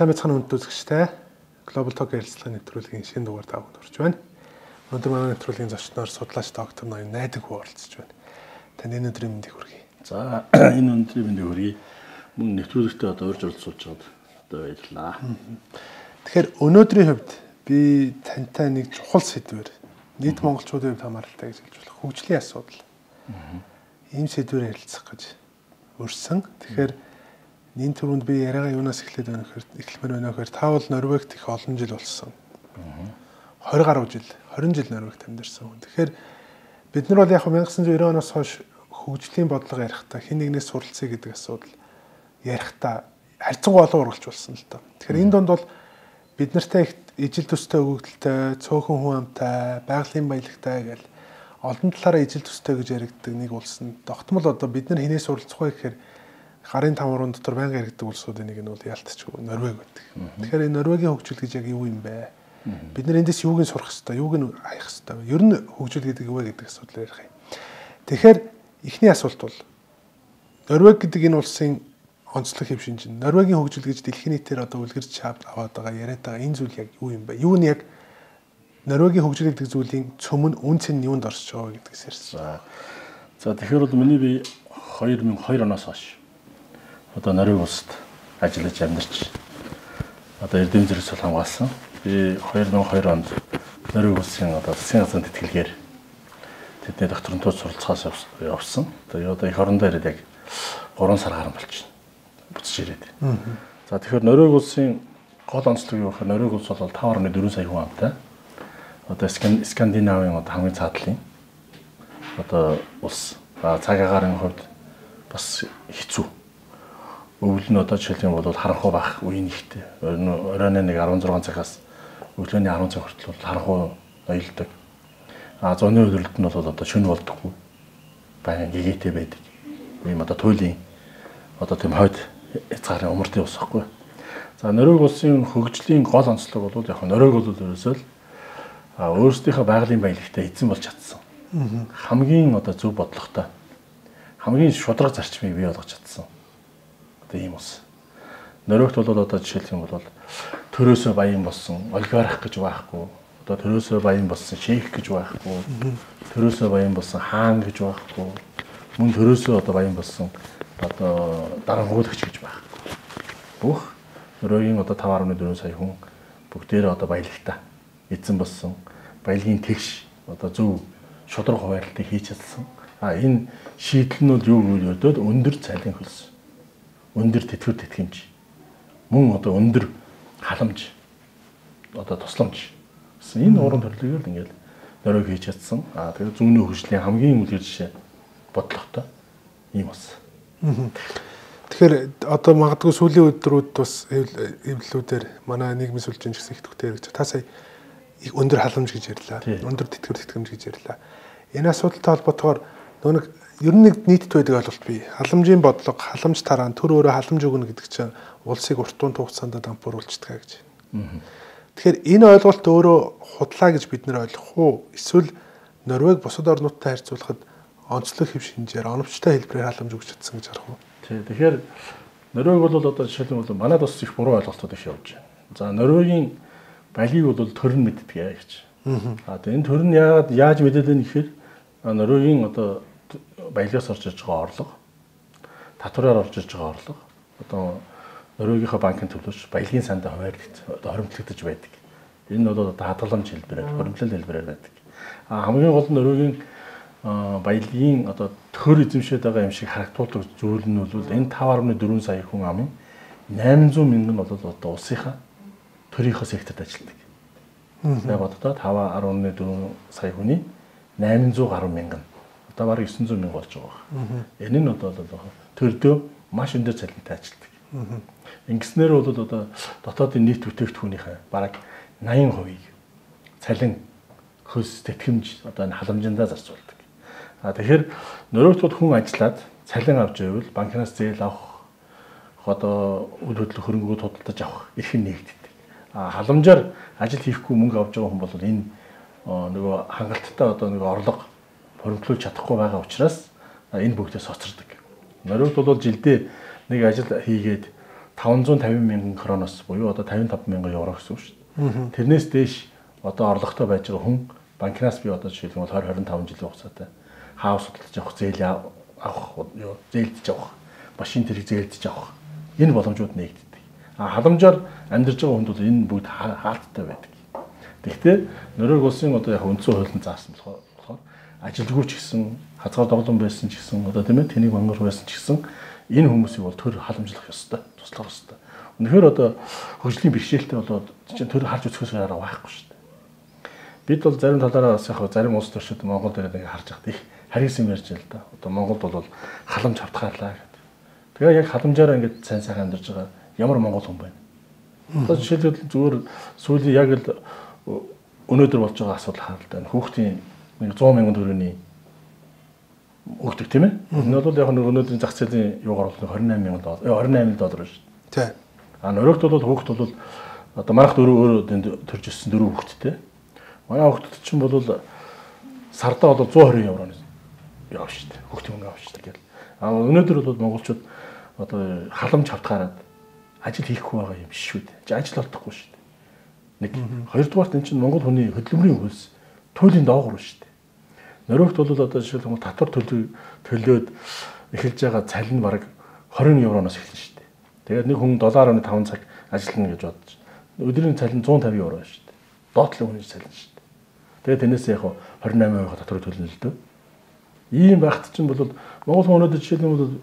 Сайн байцгаана хүнд үзэгчтэй. Global Talk ярилцлагын нэвтрүүлгийн шинэ дугаар тавд орж байна. Өнөөдөр манай нэвтрүүлгийн зочноор судлаач доктор ноён найдаг оролцож байна. Таны өнөөдрийн мэндийг хүргэе. За энэ өнөөдрийн мэндийг хүргэе. Мөн нэвтрүүлэгтээ одоо урьж оролцуулж байгаад одоо баярлалаа. Тэгэхээр өнөөдрийн хувьд би тантай нэг чухал сэдвээр нийт монголчуудын хувьд хамааралтай гэж хэлж болох хөгжлийн асуудал. Ийм сэдвээр ярилцах гэж өрсөн. Тэгэхээр энэ түрүүнд би яриагаа юунаас эхлэмээр байна вэ гэхээр та бол Норвегт их олон жил болсон. 20 гаруй жил, 20 жил Норвегт амьдарсан хүн. Тэгэхээр бид нар бол яг 1990 оноос хойш хөгжлийн бодлого ярихдаа хэн нэгнээс суралцъя гэдэг асуудал ярихдаа харьцангуй олон ургалж болсон л доо. Тэгэхээр энэ донд бол бид нартай их ижил төстэй өгөгдөлтэй, цөөхөн хүн амтай, байгалийн баялагтай гэл олон талаараа ижил төстэй гэж яригддаг нэг улсанд тогтмол одоо бид нар хинээс суралцах вэ гэхээр гарын тамрын дотор байнга яригддаг улсуудын нэг нь бол яалтчгүй Норвег байдаг. Тэгэхээр энэ Норвегийн хөгжил гэж яг юу юм бэ? Бид нар эндээс юуг нь сурах хэвээр, юуг нь хаях хэвээр. Ер нь хөгжил гэдэг юу вэ гэдэг асуудал ярих юм. Тэгэхээр эхний асуулт бол Норвег гэдэг энэ улсын онцлог хэв шинж. Норвегийн хөгжил гэж дэлхийн нийтээр одоо үлгэрч аваад байгаа яриад байгаа энэ зүйл яг юу юм бэ? Юу нь яг Норвегийн хөгжил гэдэг зүйлийн цөм нь үн цэн нь юунд орсож байгаа гэдгээс ярьсан. За тэгэхээр бол миний би 2002 оноос хойш одоо Норвег улсад ажиллаж амьдарч одоо эрдэм зэрэгцэл хамгаалсан. Би 2002 онд Норвег улсын одоо засгийн газрын тэтгэлгээр тэдний докторантууд суралцахаас явсан. Одоо их орондоо ирээд яг 3 сар гарсан болчихно. Буцаж ирээд. За тэгэхээр Норвег улсын гол онцлог юу гэхээр Норвег улс бол 5.4 сая хүн амтай. Одоо Скандинавын одоо хамгийн цаатлын одоо улс. Цаг агарын хувьд бас хэцүү. Өвөл нь одоо жишээлбэл бол харанхуй байх үеийн ихтэй. Оройн нэг 16 цагаас өглөөний 10 цаг хүртэл харанхуй ноёлдог. Зуны өдрөлт нь бол одоо шөнө болдоггүй. Баян гэгээтэй байдаг. Ийм одоо туйлын одоо тийм хойд хязгаарын умартын ус байхгүй. За Норвег улсын хөгжлийн гол онцлог бол яг Норвег бол ерөөсөө өөрсдийнхөө байгалийн баялагтай эзэн болж чадсан. Хамгийн одоо зөв бодлоготой. Хамгийн шударга зарчмыг бий болгож чадсан. Ийм ус. Норвегт бол одоо жишээлх юм бол төрөөсөө баян болсон олигарх гэж байхгүй. Одоо төрөөсөө баян болсон шейх гэж байхгүй. Төрөөсөө баян болсон хаан гэж байхгүй. Мөн төрөөсөө одоо баян болсон одоо дарангуулагч гэж байхгүй. Бүх Норвегийн одоо 5.4 сая хүн бүгдээрээ одоо баялагтай эзэн болсон. Баялагын тэгш одоо зөв шударга хуваарлтыг хийж чадсан. Энэ шийдэл нь бол юу гэж бодоод өндөр цалин хөлс. Өндөр тэтгэвэр тэтгэмж. Мөн одоо өндөр халамж. Одоо тусламж. Энэ уран төрлөгийг л ингээл Норвег хийж чадсан. Тэгээд зүүнний хөгжлийн хамгийн үлгэр жишээ бодлоготой ийм бас. Тэгэхээр одоо магадгүй сүүлийн өдрүүд бас эвлэлүүдээр манай нийгмийн сүлжээч гэсэн их төвтэй яригч. Та сая өндөр халамж гэж ярьлаа. Өндөр тэтгэвэр тэтгэмж гэж ярьлаа. Энэ асуудалтай холбоотойгоор нэг ер нь нэг нийтэд байдаг ойлголт бий. Халамжийн бодлого, халамж тараан, төр өөрөө халамж өгнө гэдэг чинь улсыг урт хугацаанд дампууруулчихдаг гэж. Тэгэхээр энэ ойлголт өөрөө худлаа гэж бид нэр ойлгох уу? Эсвэл Норвег бусад орнуудтай харьцуулахад онцлог хэв шинжээр оновчтой хэлбэрээр халамж өгч чадсан гэж харах уу? Тэгэхээр Норвег бол одоо жишээлбэл манайд бас их буруу ойлголтууд их явж байна. За Норвегийн балийг бол төр нь мэддэг гэж. Тэгээд энэ төр нь яаж мэдээд байна гэхээр Норвегийн одоо баялагаас орж иж байгаа орлого, татвараар орж иж байгаа орлого, одоо Норвегийнхаа банкын төлөөч баялагын сандаа хоримтлагдаж байдаг. Энэ бол одоо хадгаламж хэлбэрээр, хоримтлал хэлбэрээр байдаг. Хамгийн гол нь Норвегийн баялагын одоо төр эзэмшээд байгаа юм шиг харагдуулдаг зүйл нь бол энэ 5.4 сая хүн амын 800 мянган бол одоо улсынхаа төрийнхөө секторт ажилладаг. Яг одоо 5.4 сая хүний 800 гаруй мянган. Одоо бараг 900 мянга болж байгаа. Энэ нь одоо төрдөө маш өндөр цалинтай ажилладаг. Ингэснээр бол одоо дотоодын нийт бүтээгдэхүүнийхээ бараг 80%-ийг цалин, хөлс, тэтгэмж одоо энэ халамжиндаа зарцуулдаг. Тэгэхээр Норвегт хүн ажиллаад цалин авч байвал банкнаас зээл авах одоо үйл хөдлөх хөрөнгөүүд худалдаж авах эрх нь нэгддэг. Халамжаар ажил хийхгүй мөнгө авч байгаа хүн бол энэ нөгөө хангалттай одоо нэг орлого хөрөнгөлүүлж чадахгүй байгаа учраас энэ бүгдээс хоцордог. Норвегт бол жилдээ нэг ажил хийгээд 550 мянган кроноос буюу одоо 55 мянган евро гэсэн үг шүү дээ. Тэрнээс дээш одоо орлоготой байж байгаа хүн банкнаас би одоо жишээлбэл 20-25 жилийн хугацаатай хаус судалж авах, зээл авах, зээлдэж авах, машин тэрэг зээлдэж авах энэ боломжууд нэгддэг. Халамжаар амьдарч байгаа хүнд бол энэ бүгд хаалттай байдаг. Тэгэхдээ Норвеги улсын одоо яг үндсэн хуулинд заасан болохоор ажилгүй ч гэсэн, хазгаар доглон байсан ч гэсэн, одоо тийм ээ тэнийг мангар байсан ч гэсэн энэ хүмүүсийг бол төр халамжлах ёстой, туслах ёстой. Үнэхээр одоо хөгжлийн бэрхшээлтэй болоод чинь төр харж үзэхээс арга байхгүй шүү дээ. Бид бол зарим талаараа бас яг зарим улс төрчид Монгол дээр ингэ харж байхад их харгисан ярьж л да. Одоо Монголд бол халамж автгаалаа гэдэг. Тэгээ яг халамжаараа ингэ сайн сайхан амьдарч байгаа ямар монгол хүн байна. Одоо жишээлбэл зүгээр сүүлийн яг л өнөөдөр болж байгаа асуудал хаалт. Хүүхдийн 100 мянган төгрөгийн өгдөг тийм ээ. Энэ бол яг өнөөдрийн зах зээлийн юугаар бол 28 мянган доллар, 28 доллар шүү дээ. Тийм. Норвегт бол хүүхд бол одоо манайх өөрөө төрж ирсэн 4 хүүхэдтэй. Манай хүүхдэд чинь бол сардаа бол 120 евроны яваа шүү дээ. Хүүхдийн мөнгө авах шүү дээ гэл. Өнөөдөр бол монголчууд одоо халамж хавтгаараад ажил хийхгүй байгаа юм шүү дээ. Ажил олдохгүй шүү дээ. Нэг хоёрдугаарт энэ чинь монгол хүний хөдөлмөрийн хөлс туйлын доогуур шүү дээ. Норвегт бол одоо жишээлбэл татвар төлөөд эхэлж байгаа цалин бараг 20 евроноос эхэлнэ шүү дээ. Тэгээд нэг хүн 7.5 цаг ажиллана гэж бодож. Өдрийн цалин 150 евро шүү дээ. Доотлын хүний цалин шүү дээ. Тэгээд тэрнээс яг 28% татвар төлнө л дөө. Ийм багт чинь бол монгол хүн өнөөдөр жишээлбэл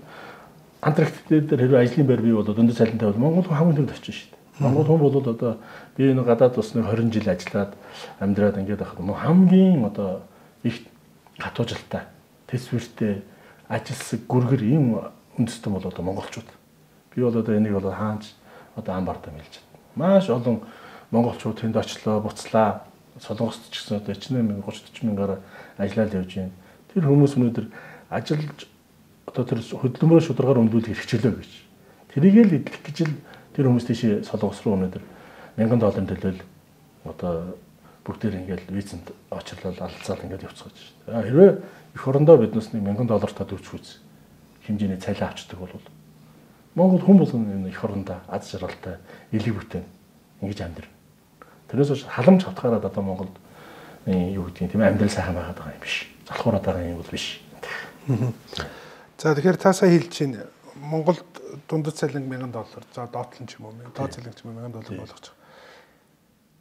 Антарктик дээр хэрвээ ажлын байр бий болоод өндөр цалинтай бол монгол хүн хамгийн түрүүнд очиж шүү дээ. Монгол хүн бол одоо би энэ гадаад усны 20 жил ажиллаад амьдраад ингээд байхад хамгийн одоо их хатуужилтай, төсвөртэй, ажилсаг, гүргэр ийм үндэстэн бол одоо монголчууд. Би бол одоо энийг бол хаанч одоо амбартаа мэлж байна. Маш олон монголчууд тэнд очлоо, буцлаа. Солонгост ч гэсэн одоо 30-40 мянгаар ажиллаад явж байна. Тэр хүмүүс өнөөдөр ажиллаж одоо тэр хөдөлмөрөө шударгаар өндүүлэх хэрэгчлөө гэж. Тэрийг л эдлэх гэж л тэр хүмүүс тийш солонгос руу өнөөдөр $1000 төлөөл одоо бүгдээр ингээл визэнд очрлол алцаал ингээд явцгааж байна. Хэрвээ эх орондоо биднээс $1000 та төвч үз хэмжээний цалин авчдаг бол Монгол хүн болгон энэ эх орондоо аз жаргалтай, элэг бүтээн ингэж амьдрна. Тэрнээс ч халамж хавтгаараад одоо Монголд юу гэдгийг тийм амьдрал сайхан байгаад байгаа юм биш. Залхуураад байгаа юм бол биш. За тэгэхээр та сая хэлж чинь Монголд дундад цалин $1000, за доотлон ч юм уу, доод цалин ч юм уу $1000 болгож байгаа.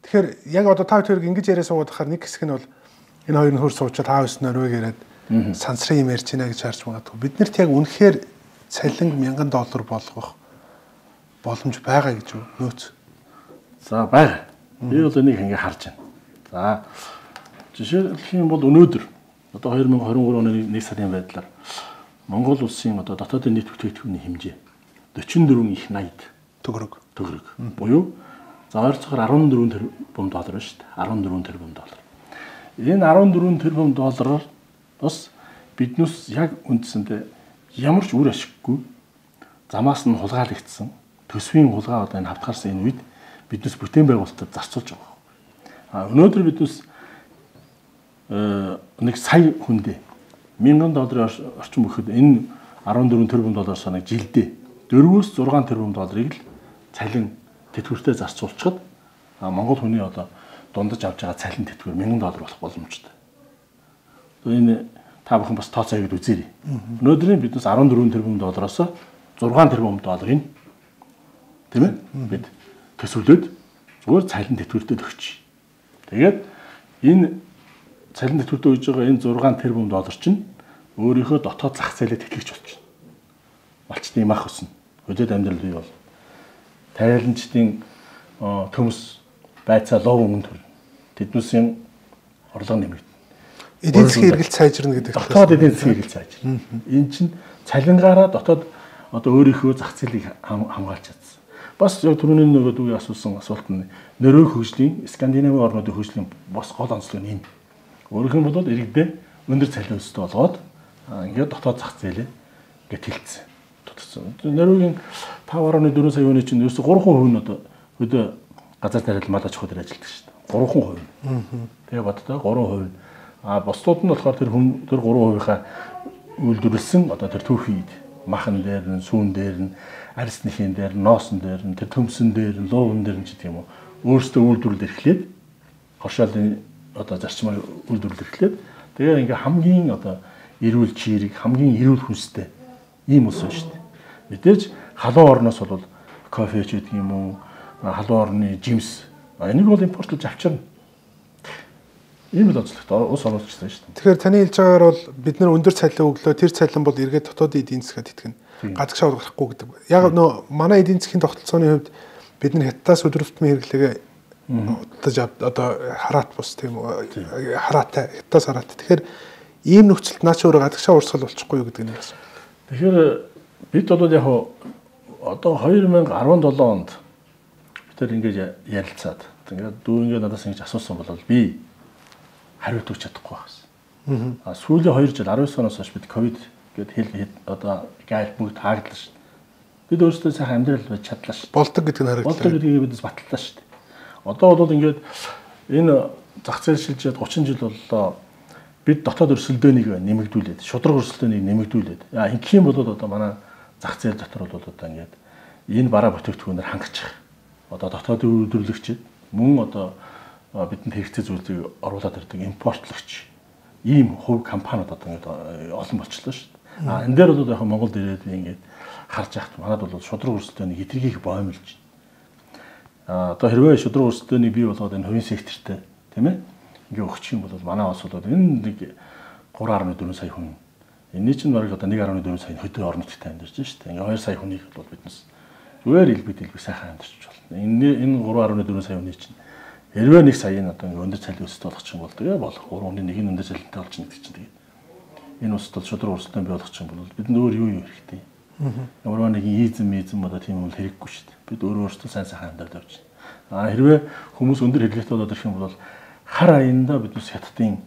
Тэгэхээр яг одоо та хоёр ингэж яриа суугаад байхаар нэг хэсэг нь бол энэ хоёр нь хөр суучаад хаус Норвег яриад сансрын юм ярьж байна гэж харж магадгүй. Биднэрт яг үнэхээр цалин $1000 болгох боломж байгаа гэж үү? Нөөц. За байгаа. Би бол энийг ингэ харж байна. За жишээлх юм бол өнөөдөр одоо 2023 оны 1 сарын байдлаар Монгол улсын одоо дотоодын нийт бүтээгдэхүүний хэмжээ 44 их 80 төгрөг буюу за ойролцоогоор $14 тэрбум шүү дээ. $14 тэрбум. Энэ $14 тэрбум доллараар бас биднээс яг үндсэндээ ямар ч үр ашиггүй замаас нь хулгайлагдсан төсвийн хулгай одоо энэ хавтгаарсан энэ үед биднээс бүтээн байгуулалтад зарцуулж байгаа. Өнөөдөр биднээс нэг сая хүндээ $1000 орчим өгөхөд энэ $14 тэрбум санаг жилдээ 4-6 тэрбум долларыг л цалин тэтгэвртээ зарцуулчихад Монгол хүний одоо дундаж авч байгаа цалин тэтгэвэр $1000 болох боломжтой. Энэ та бүхэн бас тооцоо хийгээд үзээрэй. Өнөөдрийн биднээс $14 тэрбум доллароос $6 тэрбум долларын тийм ээ бид төсвөлөөд зүгээр цалин тэтгэвртээ өгч. Тэгээд энэ цалин тэтгэвртээ өгж байгаа энэ $6 тэрбум доллар чинь өөрийнхөө дотоод зах зээлээ тэтгэж болчихно. Малчтын юм ах өснө. Хөдөөд амьдрал бий бол. Тайланчдын төмс байцаа лов өнгө төрнө. Тэднүүсийн орлого нэмэгдэнэ. Эдийн засгийн эргэлт сайжирна гэдэг. Дотоод эдийн засгийн эргэлт сайжирна. Энэ чинь цалингаараа дотоод одоо өөрийнхөө зах зээлийг хамгаалж чадсан. Бас яг түрүүний нөгөө дүүгээ асуусан асуулт нь Норвеги хөгжлийн Скандинавын орнуудын хөгжлийн бас гол онцлог нь энэ. Өөрөөх нь бол иргэдээ өндөр цалин өсөлт болгоод ингээд дотоод зах зээлээ ингээд тэлцсэн. Норвегийн 5.4 сая хүний чинь ерөөсө 3% нь одоо өдөө газар тариалал мал аж ахуй дээр ажилладаг шүү дээ. 3%. Тэгээ боддоо 3%. Бусдууд нь болохоор тэр 3%-ийнхаа үйлдвэрлэсэн одоо тэр түүхийд махан дээр нь, сүүн дээр нь, арьсныхын дээр, ноосон дээр нь, тэр төмсөн дээр нь, луувн дээр нь ч гэх юм уу өөрсдөө үйлдвэрлэл эрхлээд хоршоолын одоо зарчмаар үйлдвэрлэл эрхлээд тэгээ ингээ хамгийн одоо эрүүл чирэг, хамгийн эрүүл хүнстэй ийм улс байна шүү дээ. Мэдээж халуун орноос бол кофе ч гэдэг юм уу, халуун орны жимс энийг бол импортлож авчирна. Ийм л онцлогтой ус оруулагчтай шүү дээ. Тэгэхээр таны хэлж байгаагаар бол бид нар өндөр цалин өглөө тэр цалин бол эргээд дотоодын эдийн засгаад итгэнэ. Гадагшаа гарахгүй гэдэг. Яг нөө манай эдийн засгийн тогтолцооны хувьд бид нар хятадаас өдрөлтмийн хэрэглээгээ одоо хараат бус тийм үү? Хараатай, хятадаас хараатай. Тэгэхээр ийм нөхцөлд наач өөрөө гадагшаа урсгал болчихгүй юу гэдэг нь юм. Тэгэхээр бид бол яг одоо 2017 онд бид тэр ингэж ярилцаад тэгээд дүү ингэ надаас ингэж асуусан бол би хариулт өгч чадахгүй байсан. Сүүлийн 2 жил 19 оноос хойш бид ковид гэдэг хэл одоо гайл бүгд хааглаа шүү дээ. Бид өөрсдөө сайхан амьдрал байж чадлаа шүү дээ. Болдог гэдэг нь харагдлаа. Болдог гэдгийг бидээс батллаа шүү дээ. Одоо бол ингээд энэ зах зээл шилжээд 30 жил боллоо. Бид дотоод өрсөлдөөнийг нэмэгдүүлээд, шудраг өрсөлдөөнийг нэмэгдүүлээд. Ингэх юм бол одоо манай зах зээл дотор бол одоо ингээд энэ бараа бүтээгдэхүүнээр хангачих. Одоо дотоодын үйлдвэрлэгчид мөн одоо бидэнд хэрэгцээ зүйлийг оруулаад ирдэг импортлогч ийм хувь компаниуд одоо ингээд олон болчихлоо шүү дээ. Энэ дээр бол яг Монголд ирээд би ингээд харж яхад манад бол шудраг өрсөлдөөнийг хэтэрхийх боомлж. Одоо хэрвээ шудраг өрсөлдөөнийг бий болгоод энэ хувийн секторт тийм ээ ингээ өгчих юм бол манай улс бол энэ нэг 3.4 сая хүн. Энийн чинь бараг одоо 1.4 сая хөдөө орон нутгад амьдарч байна шүү дээ. Ингээ 2 сая хүнийг бол биднес зүгээр илбэг сайхан амьдарч болно. Энэ 3.4 сая хүний чинь хэрвээ 1 саяын одоо ингээ өндөр цалин өсөлт болгочих юм бол тэгээ болох 3-ны 1 нь өндөр цалинтай болж байгаа гэдэг чинь тэгээ энэ улсад бол шудраг өрсөлдөөн бий болгочих юм бол бидэнд өөр юу хэрэгтэй. Ямар нэг изм одоо тийм юм хэрэггүй шүү дээ. Бид өөрөөсөө сайн сайхан амьдарч явж байна. Хэрвээ хүмүүс өндөр хэрэглээтэй болоод ирэх юм бол хар аяндаа биднес хятадын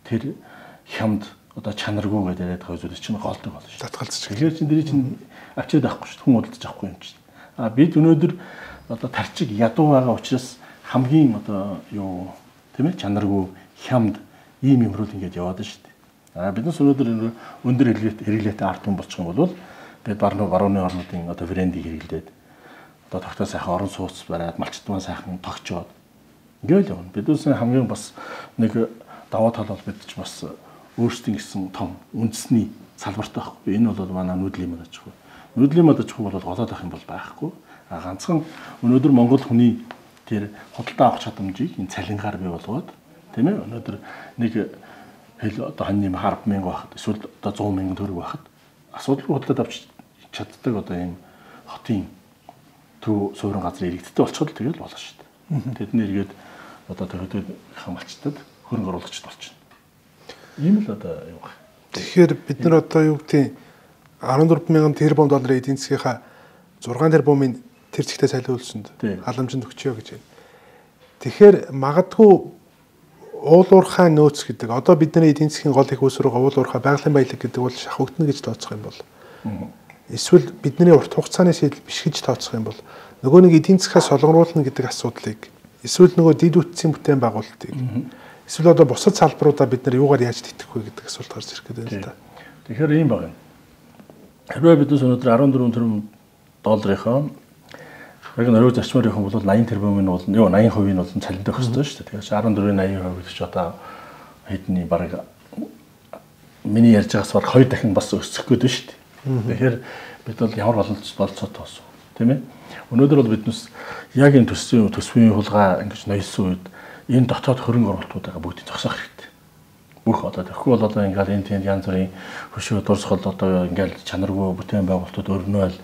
тэр хямд одоо чанаргүй гэдэг яриад байгаа зүйл чинь голдог болно шүү. Татгалзчих. Тэгэхээр чинь дэрий чинь авчиад авахгүй шүү. Хүн удаж авахгүй юм чинь. Бид өнөөдөр одоо тарчиг ядуу байгаа учраас хамгийн одоо юу тийм ээ чанаргүй хямд ийм юмрууд ингэж яваад шүү дээ. Биднес өнөөдөр өндөр хэрэглээтэй ард түмэн болчих юм бол бид барууны орнуудын одоо брендийг хэрэглээд одоо тогтоо сайхан орон сууц бариад малчтмаа сайхан тогчоод ингээл явна. Бидээс хамгийн бас нэг даваа тал бол бид ч бас өөрсдийн гэсэн том үндэсний салбартай байхгүй. Энэ бол манай нүүдлийн мод аж ахуй. Нүүдлийн мод аж ахуй бол голоод авах юм бол байхгүй. Ганцхан өнөөдөр Монгол хүний тэр худалдаа авах чадамжийг энэ цалингаар бий болгоод тийм ээ өнөөдөр нэг хэл одоо ханьны 10,000 байхад эсвэл одоо 100,000 төгрөг байхад асуудалгүй худалдаад авч чаддаг одоо ийм хотын төв суурин газрын иргэдтэй болчиход тэгэл болно шүү дээ. Тэдний иргэд одоо төдөө хамгаалчдад хөрөнгө оруулагчд болчихно. Ийм л одоо юу гэх. Тэгэхээр бид нар одоо юу гэдэг 14,000 тэрбум долларын эдийн засгийнхаа 6 тэрбумын тэр зэгтээ солиулсанд халамжинд өгчөө гэж байна. Тэгэхээр магадгүй уул уурхай нөөц гэдэг одоо бидний эдийн засгийн гол их үүсвэр уул уурхай байгалийн баялаг гэдэг бол шахагдана гэж тооцох юм бол эсвэл бидний урт хугацааны шийдэл биш гэж тооцох юм бол нөгөө нэг эдийн засгаас солонгоруулна гэдэг асуудлыг эсвэл нөгөө дид үтцийн бүтээн байгуулалтыг эсвэл одоо бусад салбаруудаа бид нар юугаар яаж тэтгэх вэ гэдэг асуулт гарч ирэх гэдэг юм л да. Тэгэхээр ийм байна. Хэрвээ бид өнөөдөр 14 тэрбум долларынхаа яг нөрөө зарчмаар явах юм бол 80 тэрбумын бол 80% нь бол цалинтай өгөх ёстой шүү дээ. Тэгэхээр 14-80% гэдэг чинь одоо хэдний бараг миний ярьж байгаас баг 2 дахин бас өсөх гээд байна шүү дээ. Тэгэхээр бид бол ямар болцоо тоосон тийм ээ. Өнөөдөр бол биднес яг энэ төсвийн хулгай ингэж ноёсон үед энэ дотоод хөрөнгө оруулалтуудаа бүгдийг зогсоох хэрэгтэй. Бүх одоо тэгэхгүй бол одоо ингээл энэ тийм янз бүрийн хөшөө дурсгал одоо ингээл чанаргүй бүтээн байгуулалтууд өрнөөл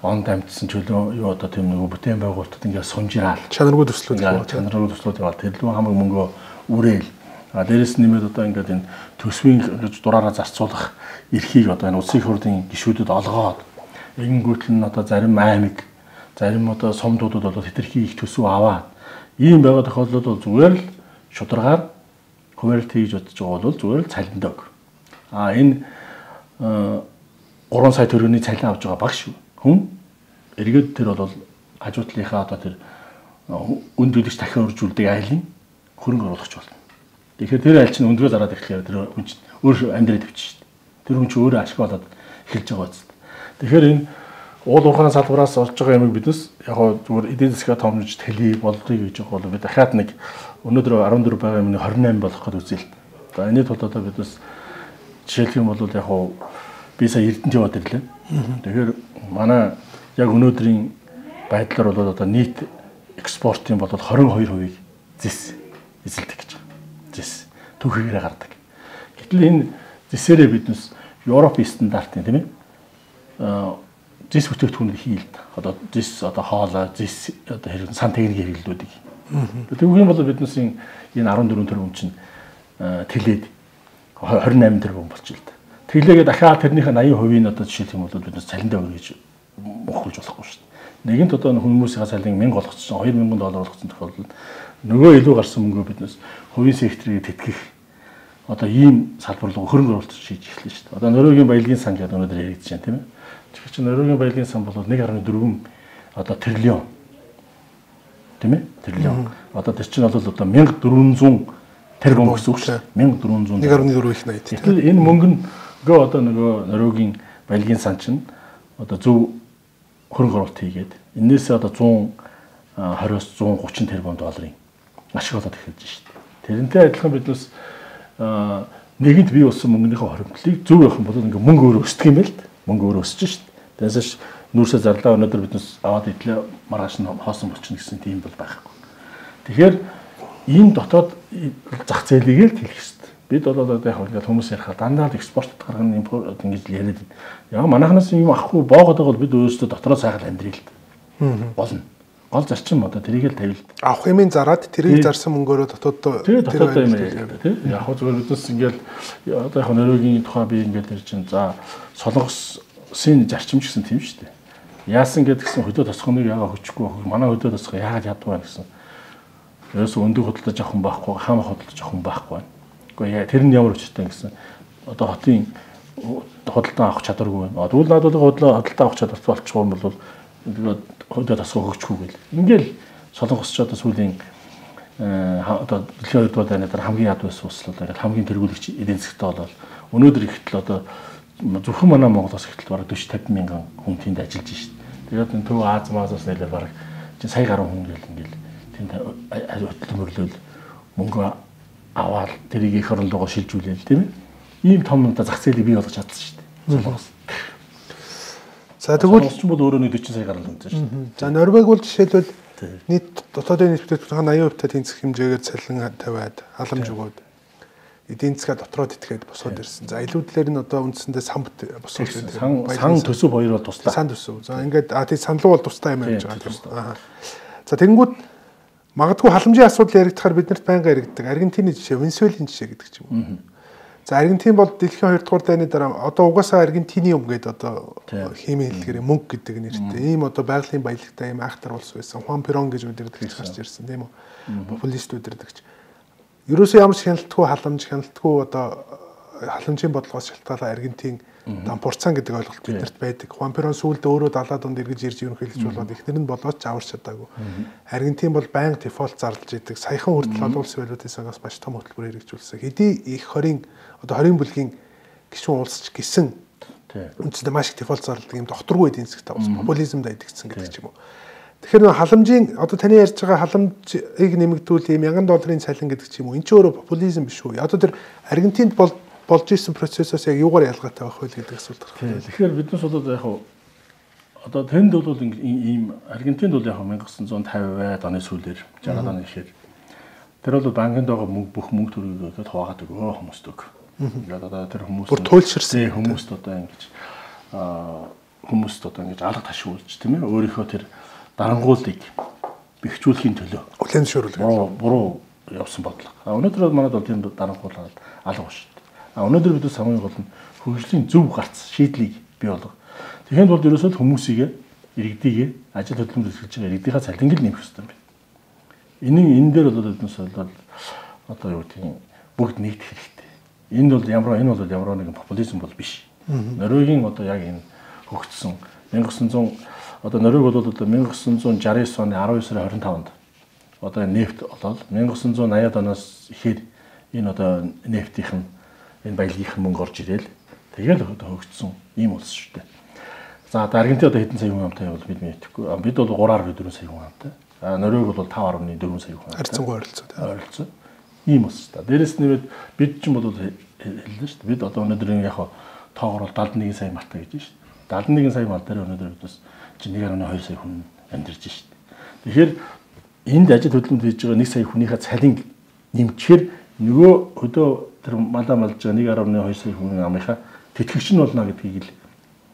онд амьдсан чөлөө юу одоо тийм нэг бүтээн байгуулалтууд ингээл сунжраал чанаргүй төслүүд яваад тэрлүү хамаг мөнгө үрээл дээрэс нэмээд одоо ингээд энэ төсвийн гэж дураараа зарцуулах эрхийг одоо энэ улсын хурлын гишүүдэд олгоод ингэнгүүтэл нь одоо зарим аймаг зарим одоо сумдуудад бол хэтэрхий их төсөв аваад ийм байгаа тохиолдолд бол зүгээр л шударгаар хуваарилт хийж бодож байгаа бол зүгээр л цалиндаг. Энэ 3 сая төгрөгийн цалин авч байгаа багш хүн эргээд тэр бол хажуутлынхаа одоо тэр үнд төлөгч дахин өржүүлдэг айлын хөрөнгө оруулагч болно. Тэгэхээр тэр айл чинь өндгөө зараад эхлэхээр тэр хүн чинь өөр амьдрал төвч шүү дээ. Тэр хүн чинь өөрөө ашиг болоод эхэлж байгаа үст. Тэгэхээр энэ уул уурхайн салбараас олж байгаа юмыг биднес яг зүгээр эдийн засгаа томж тэлий болдгийг гэж байгаа бол бид дахиад нэг өнөөдөр 14 байгаа юмны 28 болгох гэж үзье л. За энэний тулд одоо биднес жишээлх юм бол яг би сая Эрдэнэт яваад ирлээ. Тэгэхээр манай яг өнөөдрийн байдлаар бол одоо нийт экспортын бол 22%-ийг зис эзэлдэг гэж байгаа. Зис түүхийгээрээ гардаг. Гэтэл энэ зисээрээ биднес Европын стандартын тийм ээ зис бүтээгдэхүүнийг хийлд. Одоо зис одоо хоолой, зис одоо хэрэг сан техникийн хэрэглүүдийг. Тэгвэл юм бол биднээс энэ 14 тэрбум чинь тэлээд 28 тэрбум болчих л да. Тэглээгээ дахиад тэрнийхээ 80% нь одоо жишээлх юм бол биднээс цалиндаа өргөж мохруулж болохгүй шүү дээ. Нэгэнт одоо хүмүүсийн цалин 1000 болгоцсон, $2000 болгоцсон тохиолдолд нөгөө илүү гарсан мөнгөө биднээс хувийн секторыг тэтгэх одоо ийм салбар руу хөрөнгө оруулалт шийдэж эхэллээ шүү дээ. Одоо Норвегийн баялагын сан гэдэг өнөөдөр яригдж байна тийм ээ. Тэгэхээр чи Норвегийн баялагын сан бол 1.4 одоо триллион тийм ээ? Триллион. Одоо тэр чинь бол одоо 1400 тэрбум гэсэн үг шүү дээ. 1400 1.4 их 80. Тэгэхээр энэ мөнгөө одоо нөгөө Норвегийн баялагын сан чинь одоо зөв хөрөнгө оруулалт хийгээд энээсээ одоо 120-оос 130 тэрбум долларын ашиг олоод эхэлж шүү дээ. Тэрнтэй адилхан биднээс нэгэнт бий болсон мөнгөнийхөө хоригдлыг зөв явах юм бол ингээ мөнгө өөрөө өсдөг юм байл та. Мөнгө өөрөө өсөж шүү дээ. Тэрнээс нүүрсээ зарлаа өнөөдөр биднээс аваад идлээ маргааш нь хоосон болчихно гэсэн тийм бол байхгүй. Тэгэхээр энэ дотоод зах зээлийг л хэлэх хэрэгтэй. Бид бол одоо яг ингээд хүмүүс ярихад дандаа л экспорт гаргана импорт ингэж яриад. Яг манайхнаас юм авахгүй боогод байгаа бол бид өөрсдөө дотроо сайхан амьдрий л болно. Гол зарчим одоо тэрийг л тавил. Авах юмын зараад тэрийг зарсан мөнгөөрөө дотоод дотоод юм яриад тийм. Яг зүгээр биднес ингээд одоо яг Норвегийн тухай би ингээд ярьж чинь за Солонгосын зарчимч гэсэн тийм шүү дээ. Яасан гэдгсэн хөдөө тосгоныг яагаад хөчөхгүй манай хөдөө тосгоо яагаад ядгүй байна гэсэн. Ерөөсөө өндөг хөдөлж авах хүн байхгүй, хаамаа хөдөлж авах хүн байхгүй. Гэхдээ тэр нь ямар өчтэй гэсэн одоо хотын худалдан авах чадваргүй байна. Тэгвэл надад худалдан авах чадвартай болчихгүй юм бол хөдөө тосгоо хөгжихгүй гэл. Ингээл Солонгосч одоо сүүлийн одоо дэлхийн хоёрдугаар дайны дараа хамгийн яд байсан улс бол хамгийн тэргүүлэгч эдийн засгтай болол өнөөдөр ихтэл одоо зөвхөн манай Монголоос ихтэл бараг 40-50 мянган хүн тэнд ажиллаж шít. Тэгээд энэ төв Аз Мазаас нэлээд бараг чинь сая гаруй хүн гэл ингээл тэнд хөдөлмөрлөл мөнгө аваад тэрийг их орон руугаа шилжүүлээл тийм ээ. Ийм том зах зээлийг бий болгож чадсан шít. Солонгос. За тэгвэл ч бол өөрөө нэг 40 сая гаруй хүн шít. За Норвег бол жишээлбэл нийт дотоодын нийт бүтээгдэхүүн 80% тэнцэх хэмжээгээр цалин тавиад халамж өгөөд эдийн засгаа дотроо тэтгээд босоод ирсэн. За илүүдлэр нь одоо үндсэндээ сан босоод ирсэн. Сан төсөв хоёр бол туслаа. Сан төсөв. За ингээд тий саналуу бол тустай юм яаж байгаа юм. За тэгэнгүүт магадгүй халамжийн асуудал яригдахаар биднэрт байнга яригддаг. Аргентины жишээ, Венесуелийн жишээ гэдэг ч юм уу. За Аргентин бол дэлхийн 2 дугаар дайны дараа одоо угаасаа Аргентиниум гэдэг одоо химийн хэллэгээр мөнгө гэдэг нэртэй. Ийм одоо байгалийн баялагтай ийм айхтар улс байсан. Хуан Перон гэж үдирдэг гарч ирсэн тийм үү. Популист үдирдэгч. Ерөөсөө ямар ч хяналтгүй одоо халамжийн бодлогоос шалтгаалаад Аргентин дампуурцсан гэдэг ойлголт биднэрт байдаг. Хуан Перон сүүлдээ өөрөө 70-аад онд эргэж ирж ерөнхийлөгч болоод ихнэр нь болоод ч аварч чадаагүй. Аргентин бол байнга дефолт зарлж идэг. Саяхан хүртэл олон улсын валютын сангаас маш том хөтөлбөр хэрэгжүүлсэн. Хэдий их 20 бүлгийн гишүүн улсч гисэн үндсэндээ маш их дефолт зарладаг юм докторгүй эдийн засгтай улс популизмд идэгдсэн гэдэг ч юм уу. Тэгэхээр халамжийн одоо таны ярьж байгаа халамжийг нэмэгдүүл ийм $1000 цалин гэдэг ч юм уу. Энд ч өөрөө популизм биш үү? Одоо тэр Аргентинд болж исэн процессоос яг юугаар ялгаатай байх вэ гэдэг асуулт гарах. Тэгэхээр биднес бол яг одоо тэнд бол ийм Аргентинд бол яг 1950-аад оны сүүлээр 60-аад оны ихээр тэр бол банкнд байгаа бүх мөнгө төрөйгөө хуваагаад өгөө хүмүүст өг. Ингээд одоо тэр хүмүүс бүр туйлширсан хүмүүст одоо ингэж алга ташуулж тийм ээ өөрийнхөө тэр дарангуулыг бэхжүүлэхийн төлөө хүлээн зөвшөөрүүлдэг. Буруу явсан бодлого. Өнөөдөр манад бол тийм дарангуулаад алга шүү дээ. Өнөөдөр бид хамгийн гол нь хөгжлийн зөв гарц шийдлийг бий болгох. Тэгэхэд бол ерөөсөө хүмүүсийг иргэдийг ажил хөдөлмөр эрхэлж байгаа иргэдийнхаа цалинг л нэмэх хэрэгтэй юм байна. Энэ дээр бол биднээс бол одоо юу гэдэг нь бүгд нэгдэх хэрэгтэй. Энэ бол ямар нэгэн популизм бол биш. Норвегийн одоо яг энэ хөгжсөн 1900 одоо Норвег бол одоо 1969 оны 19 сарын 25-нд одоо нефт олоод 1980-ад оноос ихээр энэ одоо нефтийнх нь энэ баялагийнх нь мөнгө орж ирээл тэгэл одоо хөгжсөн ийм улс шүү дээ. За Аргентин одоо хэдэн сая хүн амтай бол бид мэдэхгүй. Бид бол 3.4 сая хүн амтай. Норвег бол 5.4 сая хүн амтай. Харьцангуй ойролцоо. Ийм ус та. Дээрээс нь бид ч юм бол хэллээ шүү дээ. Бид одоо өнөөдөр яг тоогоор бол 71 сая малтай гэж шүү дээ. 71 сая мал дээр өнөөдөр бид бас 1.2 сая хүн амьдарч шүү дээ. Тэгэхээр энд ажил хөдөлгөөнд хийж байгаа 1 сая хүнийхээ цалин нэмчихээр нөгөө өдөө тэр малаа малж байгаа 1.2 сая хүн амынхаа тэтгэгч нь болно гэдгийг л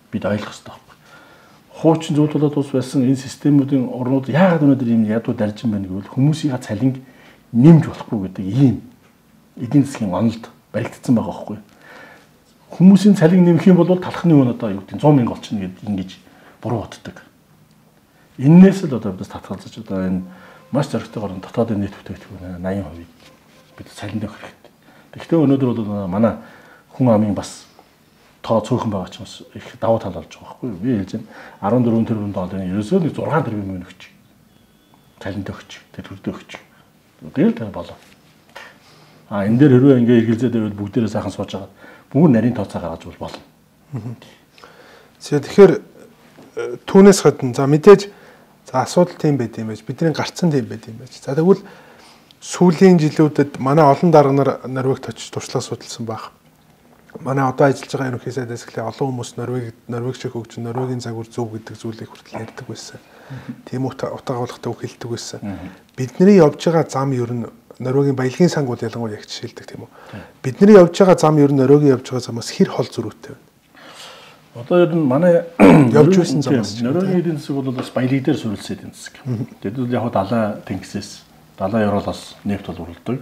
бид ойлгох хэрэгтэй байна. Хуучин зөвлөлт болоод ус байсан энэ системүүдийн орнууд яагаад өнөөдөр ийм ядуу даржин байна гэвэл хүмүүсийн цалинг нэмж болохгүй гэдэг ийм эдийн засгийн онолд баригдсан байгаа байхгүй. Хүмүүсийн цалин нэмэх юм бол талхны үн одоо юу гэдэг 100 мянга болчихно гэдэг ингэж буруу боддог. Иннээс л одоо бидээс татгалзаж одоо энэ маш зоригтойгоор дотоодын нийт бүтээгдэхүүн 80% бид цалинд өгөх хэрэгтэй. Тэгэхдээ өнөөдөр бол манай хүн амын бас тоо цөөхөн байгаа ч бас их давуу тал болж байгаа байхгүй юу? Би хэлж байна 14 тэрбум долларын ерөөсөө нэг 6 тэрбум өгч. Цалинд өгч, тэтгэврт өгч. Тэгэл тэр болоо. Энэ дээр хэрвээ ингээ эргэлзээд байвал бүгдээрээ сайхан сууж байгаа. Бүгд нарийн тооцоо гаргаж бол болно. Тэгэхээр түүнээс гадна за мэдээж за асуудал тийм байд юм байж бидний гарцсан тийм байд юм байж. За тэгвэл сүүлийн жилүүдэд манай олон дарга нар Норвегт очиж туршлага судалсан баг. Манай одоо ажиллаж байгаа ерөнхий сайдаас эхлээ олон хүмүүс Норвег шиг хөгжин Норвегийн загвар зөв гэдэг зүйлийг хүртэл ярьдаг байсан. Тийм утгаагуулгатай үг хэлдэг байсан. Бидний явж байгаа зам ер нь Норвегийн баялагын сангууд ялангуяа их жишээлдэг тийм үү. Бидний явж байгаа зам ер нь Норвегийн явж байгаа замаас хэр хол зөрүүтэй байна. Одоо ер нь манай явж байсан замаас Норвегийн эдийн засаг бол бас баялаг дээр суурилсан эдийн засаг. Тэд бол яг далай тэнгисээс далай Европоос нефть бол уралдаг.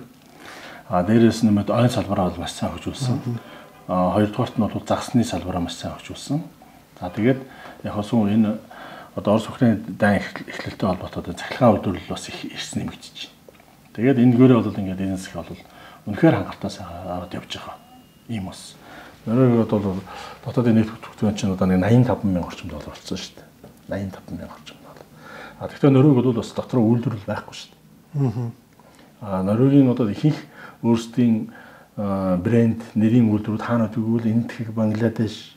Дээрээс нэмээд ойн салбараа бол маш сайн хөгжүүлсэн. Хоёрдугаарт нь бол загсны салбараа маш сайн хөгжүүлсэн. За тэгээд яг сүүн энэ одоо Орос Украины дан эхлэлтэй холбоотой цахилгаан үйлдвэрлэл бас их ирсэн нэмэгдэж байна. Тэгээд энэ гөрөө бол ингээд энэ засаг бол үнэхээр хангалттай аваад явж байгаа. Ийм бас. Норвег бол дотоодын нийт бүтээгдэхүүн чинь одоо 85 мянган орчим доллар болсон шүү дээ. 85 мянган орчим доллар. Тэгэхээр Норвег бол бас дотроо үйлдвэрлэл байхгүй шүү дээ. Норвегийн одоо ихэнх өөрсдийн брэнд нэрийн үйлдвэрүүд хаана тэгвэл Индия, Бангладеш,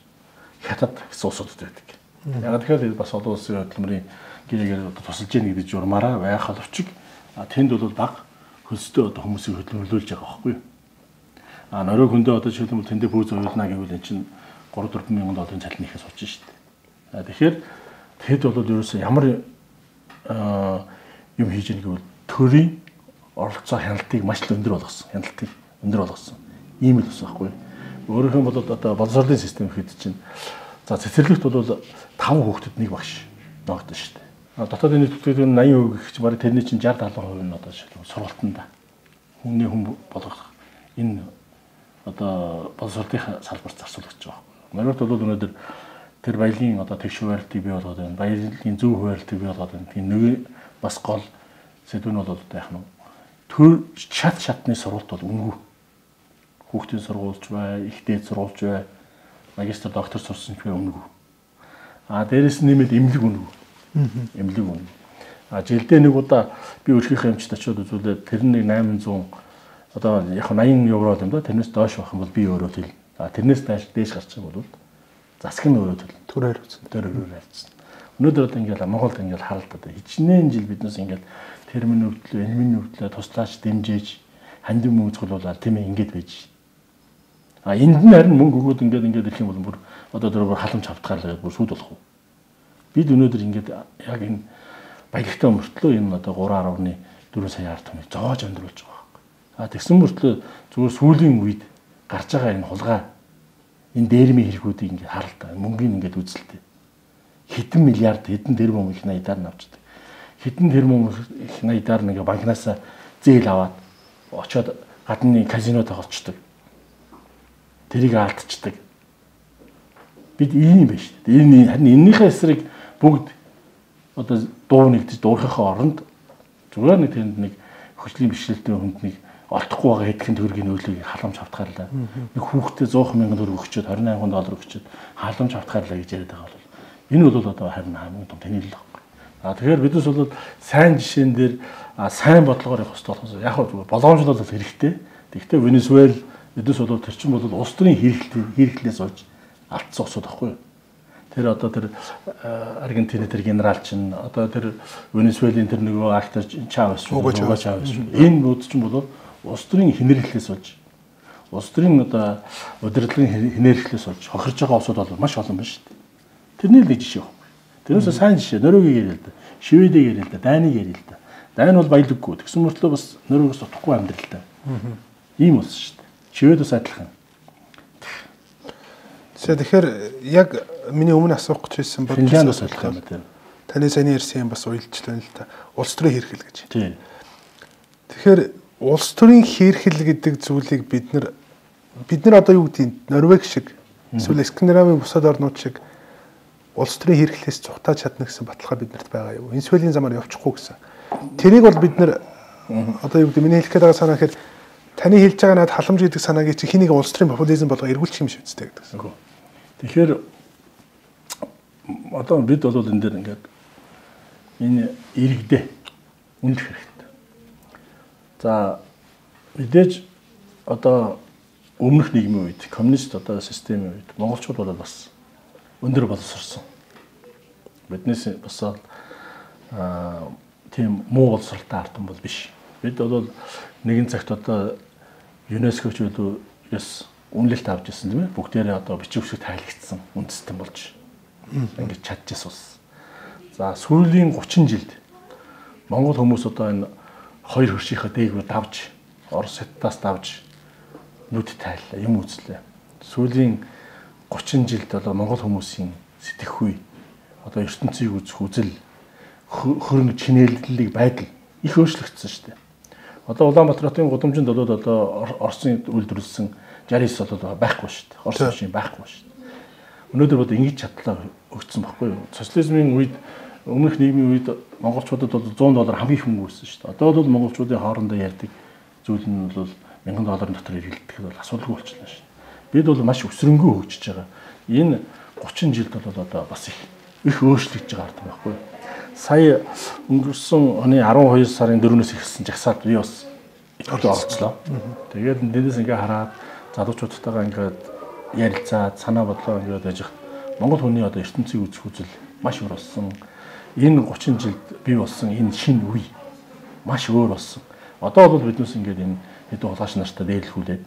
Хятад гэсэн улсуудад байдаг. Яг тэгэхээр бас олон улсын хөдөлмөрийн гэрээгээр тусалж яах гэдэг журмаараа байх боловч тэнд бол баг хөлстэй одоо хүмүүсийг хөдөлмөрлүүлж байгаа байхгүй юу? Норвег хүндээ одоо жишээлбэл тэндээ пүүз уйлнаа гэвэл эн чинь 3-4 мянган долларын цалин нэхээс болж шүү дээ. Тэгэхээр тэд бол ерөөсөө ямар юм хийж яах гэвэл төрийн оролцоо хяналтыг маш л өндөр болгосон. Ийм л ус байхгүй. Өөрөөр нь бол одоо боловсролын систем хэд чинь за цэцэрлэгт бол 5 хүүхдэд нэг багш ногдсон шүү дээ. Дотоодын нийт бүтээгдэхүүн 80% гэх чинь бараг тэрний чинь 60-70% нь одоо сургалтанд хүний хүн болгох энэ одоо боловсролын салбарт зарцуулагдаж байгаа. Норвегт бол өнөөдөр тэр баялагын одоо тэгш хуваарлтыг бий болгоод байна. Баялагын зөв хуваарлтыг бий болгоод байна. Тийм нэг бас гол сэдв нь бол одоо яах нь төр шатны сургалт бол үнгүй. Хүүхдийн сургуулж бай, их дээд сургуулж бай, магистр доктор сурсан ч үнгүй. Дээрээс нэмээд эмнэлэг үнгүй. Эмнэлэг үнгүй. Жилдээ нэг удаа би өөрхийнхөө эмчд очиод үзүүлээд тэр нэг 800 одоо яг 80 евро юм да тэрнээс доош байх юм бол би өөрөө хэл. Тэрнээс дээш гарчих юм бол засаг нь өөрөө хэл. Төр хариуцсан. Өнөөдөр одоо ингээл Монголд ингээл харалт одоо хичнээн жил биднээс ингээл термин өвдлөө, энмийн өвдлөө туслаач дэмжээж хандив мөнгөцгөлүүлээд тийм ээ ингэж байж. Энд нь харин мөнгө өгөөд ингээд ирэх юм бол бүр одоо тэр халамж автгаалаад бүр сүйд болох уу? Бид өнөөдөр ингээд яг энэ баялагтай мөртлөө энэ одоо 3.4 сая ард түмийг зоож амьдруулж байгаа. Тэгсэн мөртлөө зүгээр сүүлийн үед гарч байгаа энэ хулгай энэ дээрмийн хэрэгүүдийг ингээд харалтаа мөнгөний ингээд үзэлтэй. Хэдэн миллиард хэдэн тэрбум их наядаар нь авчдаг. Хэдэн тэрбум их наядаар нэг банкнаас зээл аваад очоод гадны казинод тоглолцдог. Тэрийг алдчихдаг. Бид ийм байж шүү дээ. Энэ харин эннийхээ эсрэг бүгд одоо дуу нэгдэж дуурхахын оронд зүгээр нэг тэнд нэг хөшлийн бишрэлтэй хүнд нэг олдохгүй байгаа хэдхэн төгрөгийн нөлөөг халамж автгаарлаа. Нэг хүүхдээ 100 мянган төгрөг өгчөөд 28 доллар өгчөөд халамж автгаарлаа гэж яриад байгаа бол энэ бол одоо харин хамгийн том танил байхгүй. Тэгэхээр биднес бол сайн жишээн дээр сайн бодлогоор явах хэрэгтэй болохоос яг зүгээр болгоомжлол бол хэрэгтэй. Тэгэхдээ Венесуэл биднес бол тэр чинь бол улс төрийн хэрэглээс олж алдсан усуд байхгүй юу. Тэр одоо тэр Аргентины тэр генерал чинь одоо тэр Венесуелийн тэр нөгөө актер Чавес энэ бүгд чинь бол улс төрийн хинэрхлээс болж улс төрийн одоо удирдлагын хинэрхлээс болж хохирж байгаа улсууд бол маш олон байна шүү дээ. Тэрний л жишээ байна. Тэрнээс сайн жишээ Норвегийг ярил л да. Шведийг ярил л да. Данийг ярил л да. Дань бол баялаггүй. Тэгсэн мөртлөө бас Норвегоос утгагүй амьдрал та. Ийм улс шүү дээ. Швед бас адилхан. Тэгэхээр яг миний өмнө асуух гэж байсан bod Финляндс адилхан юм тийм. Таны сайн ярьсан юм бас уйлжлаа л та. Улс төрийн хэрхэл гэж. Тийм. Тэгэхээр улс төрийн хэрхэл гэдэг зүйлийг бид нар одоо юу гэдэг Норвег шиг эсвэл Скандинавын бусад орнууд шиг улс төрийн хэрхлээс цухтааж чадна гэсэн баталгаа биднэрт байгаа юу? Венесуелийн замаар явчихгүй гэсэн. Тэрийг бол бид нар одоо юу гэдэг миний хэлэх гээд байгаа санаа гэхээр таны хэлж байгаа надад халамж гэдэг санааг чи хэнийг улс төрийн популизм болгоо эргүүлчих юм шиг үстэй гэдэг. Тэгэхээр одоо бид бол энэ дээр ингээд энэ иргэдээ үнэлэх хэрэгтэй. За мэдээж одоо өмнөх нийгмийн үед коммунист одоо системийн үед монголчууд бол бас өндөр боловсрсон. Биднээс бас тийм муу боловсралтай ардсан бол биш. Бид бол нэгэн цагт одоо ЮНЕСКОч үс үнэлэлт авч ирсэн тийм ээ. Бүгдээрээ одоо бичиг үсэг тайлгдсан үнд систем болж ингэж чадчихсан ус. За сүүлийн 30 жилд монгол хүмүүс одоо энэ хоёр хөршийнхээ дээгүүр давж Орос хятадаас давж нүд тайллаа, юм үзлээ. Сүүлийн 30 жилд одоо монгол хүмүүсийн сэтгэхүй одоо ертөнцийг үзэх үзэл хөрөнгө чинээллийг байдал их өөрчлөгдсөн шүү дээ. Одоо Улаанбаатар хотын гудамжинд бол одоо Оросын үйлдвэрлэсэн 69 бол байхгүй шүү дээ. Орос машин байхгүй шүү дээ. Өнөөдөр бол ингэж чадлаа өгсөн баггүй юу? Социализмын үед өмнөх нийгмийн үед монголчуудад бол $100 хамгийн их мөнгө байсан шүү дээ. Одоо бол монголчуудын хоорондоо ярьдаг зүйл нь бол $1000 дотор ирэлдэх бол асуудалгүй болчихлоо шүү дээ. Бид бол маш өсрөнгөө хөгжиж байгаа. Энэ 30 жилд бол одоо бас их өөрчлөгдөж байгаа ард байхгүй юу? Сая өнгөрсөн оны 12 сарын 4-өөс ихсэн жагсаалд би бас орцлоо. Тэгээд эндээс ингээ хараад залуучуудтайгаа ингээд ярилцаад санаа бодлоо ингээд яж Монгол хүний одоо ертөнцийг үзэх үзэл маш өөр болсон. Энэ 30 жилд бий болсон энэ шинэ үе маш өөр болсон. Одоо бол биднээс ингээд энэ хэдэн улааш нартай дээрлэхүүлээд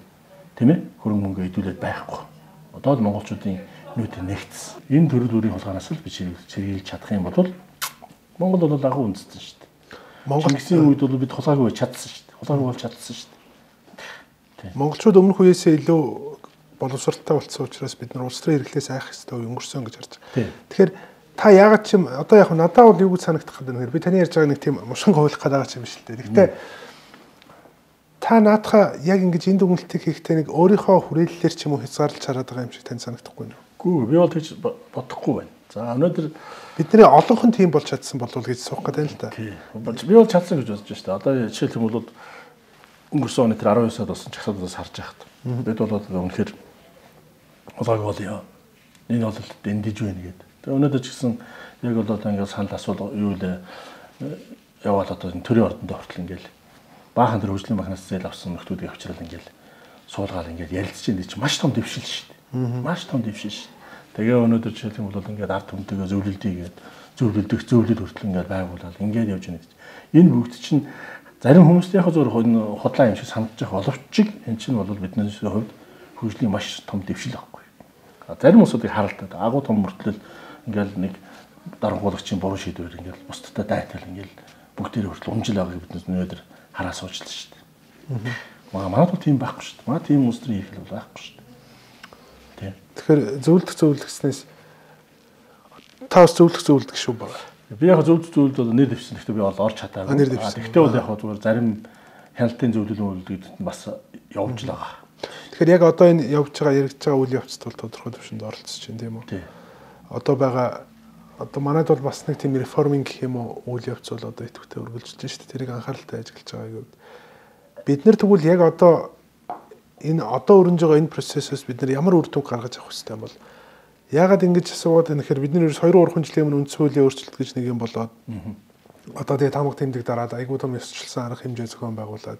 тийм ээ хөрөнгө мөнгө идэвхжүүлээд байхгүй. Одоо л монголчуудын нүүт нэгтсэн. Энэ төрөл бүрийн хулгайнаас л би чирүүлж чадах юм бол Монгол бол агуу үндэстэн шүү дээ. Монголын үед бол бид хулгайгүй чадсан шүү дээ. Хулгайгүй бол чадсан шүү дээ. Монголчууд өмнөх үеэсээ илүү боловсралтай болсон учраас бид нар улс төрийн хэрэглээс айх хэрэгтэй өнгөрсөн гэж харж байгаа. Тэгэхээр та яагаад ч юм одоо яг надад бол юу гэж санагдах гэдэг нэр би таны ярьж байгаа нэг тийм мушин хөвлөх гэдэг юм шиг л дээ. Гэхдээ та наадхаа яг ингэж энд дүгнэлтийг хийхдээ нэг өөрийнхөө хүрээллээр ч юм уу хязгаарлаж хараад байгаа юм шиг тань санагдахгүй юу? Гүү би бол тэгж бодохгүй байна. За өнөөдөр бидний олонх нь тийм болж чадсан болов гэж суух гэдэг юм л та. Би бол чадсан гэж бодож байна. Одоо жишээлх юм бол өнгөрсөн оны тэр 12 сард болсон чагсаалаас харж байхад бид бол үнэхээр хулгайг болё. Энэ бол дэндэж байна гэдэг. Тэгээ өнөөдөр ч гэсэн яг бол одоо ингээд санал асуул юу л яваад одоо энэ төрийн ордонд хүртэл ингээд баахан тэр хөгжлийн махнаас зээл авсан нөхдүүдийг авчрал ингээд суулгаад ингээд ярилцж байгаа чинь маш том дэвшил шүү дээ. Маш том дэвшил шүү. Тэгээ өнөөдөр жишээлх юм бол ингээд ард түмтэйгээ зөвлөлдийгээд зөвлөлд хүртэл ингээд байгуулаад ингээд явж байна гэж. Энэ бүгд чинь зарим хүмүүст яг зөв худлаа юм шиг санагдаж байгаа боловч энэ чинь бол бидний хувьд хөгжлийн маш том дэвшил байхгүй. Зарим хүмүүсийг харалтаад агуу том мөртлөл ингээд нэг дарангуулагчийн буруу шийдвэр ингээд бусдтай дайтал ингээд бүгдээрээ хүртэл умжил байгааг биднээс өнөөдөр хараа суучлаа шүү дээ. Манайд бол тийм байхгүй шүү дээ. Манай тийм хүмүүсийн их л байхгүй шүү дээ. Тэгэхээр зөвлөснээс та бас зөвлөдөг шүү байна. Би яг зөвлөлд бол нэр дэвсэн. Гэхдээ би бол орж чадаагүй. Гэхдээ бол яг зүгээр зарим хяналтын зөвлөл үлдэгдэд бас явж л байгаа. Тэгэхээр яг одоо энэ явж байгаа яригдж байгаа үйл явцд бол тодорхой төвшөнд оролцож байна тийм үү? Одоо манайд бол бас нэг тийм реформинг гэх юм уу үйл явц бол одоо идэвхтэй өргөлжж байна шүү дээ. Тэрийг анхааралтай ажиглаж байгаа гэвэл бид нар тэгвэл яг одоо энэ одоо өрнөж байгаа энэ процессоос бид нар ямар үр дүн гаргаж авах хэрэгтэй юм бол яагаад ингэж асуугаад байна гэхээр бид нар 2-3 жилийн өмнө үндс хуулийн өөрчлөлт гэж нэг юм болоод одоо тэгээ тамга тэмдэг дараад айгуу том ёсчлсан арга хэмжээ зохион байгуулад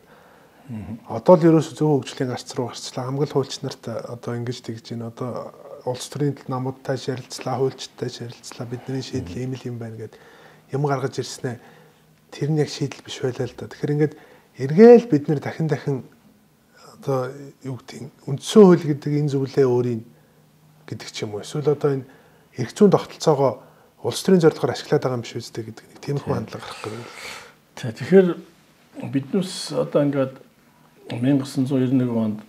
одоо л ерөөсө зөв хөгжлийн гарц руу гарчлаа хамгаал хуульч нарт одоо ингэж тэгж байна одоо улс төрийн намуудтай ярилцлаа, хуульчтай ярилцлаа, бидний шийдэл ийм л юм байна гэд юм гаргаж ирснээр тэр нь яг шийдэл биш байлаа л да. Тэгэхээр ингээд эргээл бид нэр дахин одоо юу гэдэг үндсэн хууль гэдэг энэ зүйлээ өөрийн гэдэг ч юм уу. Эсвэл одоо энэ эрх зүйн тогтолцоогоо улс төрийн зорилгоор ашиглаад байгаа юм биш үстэй гэдэг нэг тиймэрхүү хандлага гарах гэдэг. Тэгэхээр биднээс одоо ингээд 1991 онд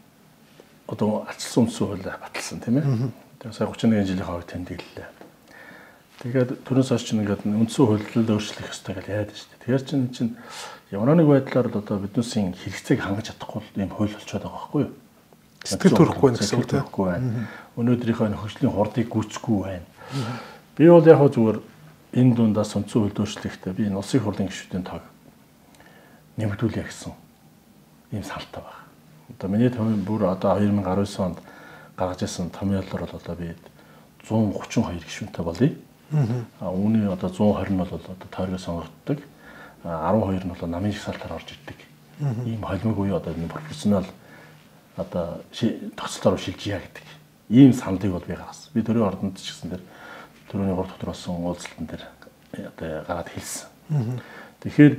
одоо ачилсан үндсэн хууль баталсан тийм ээ. Тэгээ сая 31 жилийн хойд тэмдэглэлээ. Тэгээд түрүүс хойш чинь ингээд үндсэн хуулийг өөрчлөх ёстой гэж яриад байна шүү дээ. Тэгэхээр чинь ямар нэг байдлаар л одоо биднээсийн хэрэгцээг хангаж чадахгүй ийм хууль болчиход байгаа байхгүй юу? Сэтгэл төрөхгүй гэсэн үг тийм. Өнөөдрийнхөө хөгжлийн хурдыг гүйцэхгүй байна. Би бол яг зүгээр энэ дундаас үндсэн хууль өөрчлөхдөө би энэ улсын хурлын гишүүдийн тоог нэмэгдүүлье гэсэн ийм салтаа байна. Одоо миний томьёо бүр одоо 2019 онд гаргаж ирсэн томьёолоор бол одоо би 132 гишүүнтэй болъё. Үүний одоо 120 нь бол одоо тойргоо сонгогддог. 12 нь бол намын жагсаалтаар орж ирдэг. Ийм холимог буюу одоо энэ профессионал одоо тогтцолоор шилжийя гэдэг. Ийм сандыг бол би гаргасан. Би төрийн ордонд ч гэсэн тэр төрөний 3 дотор болсон уулзалтан дээр одоо гараад хэлсэн. Тэгэхээр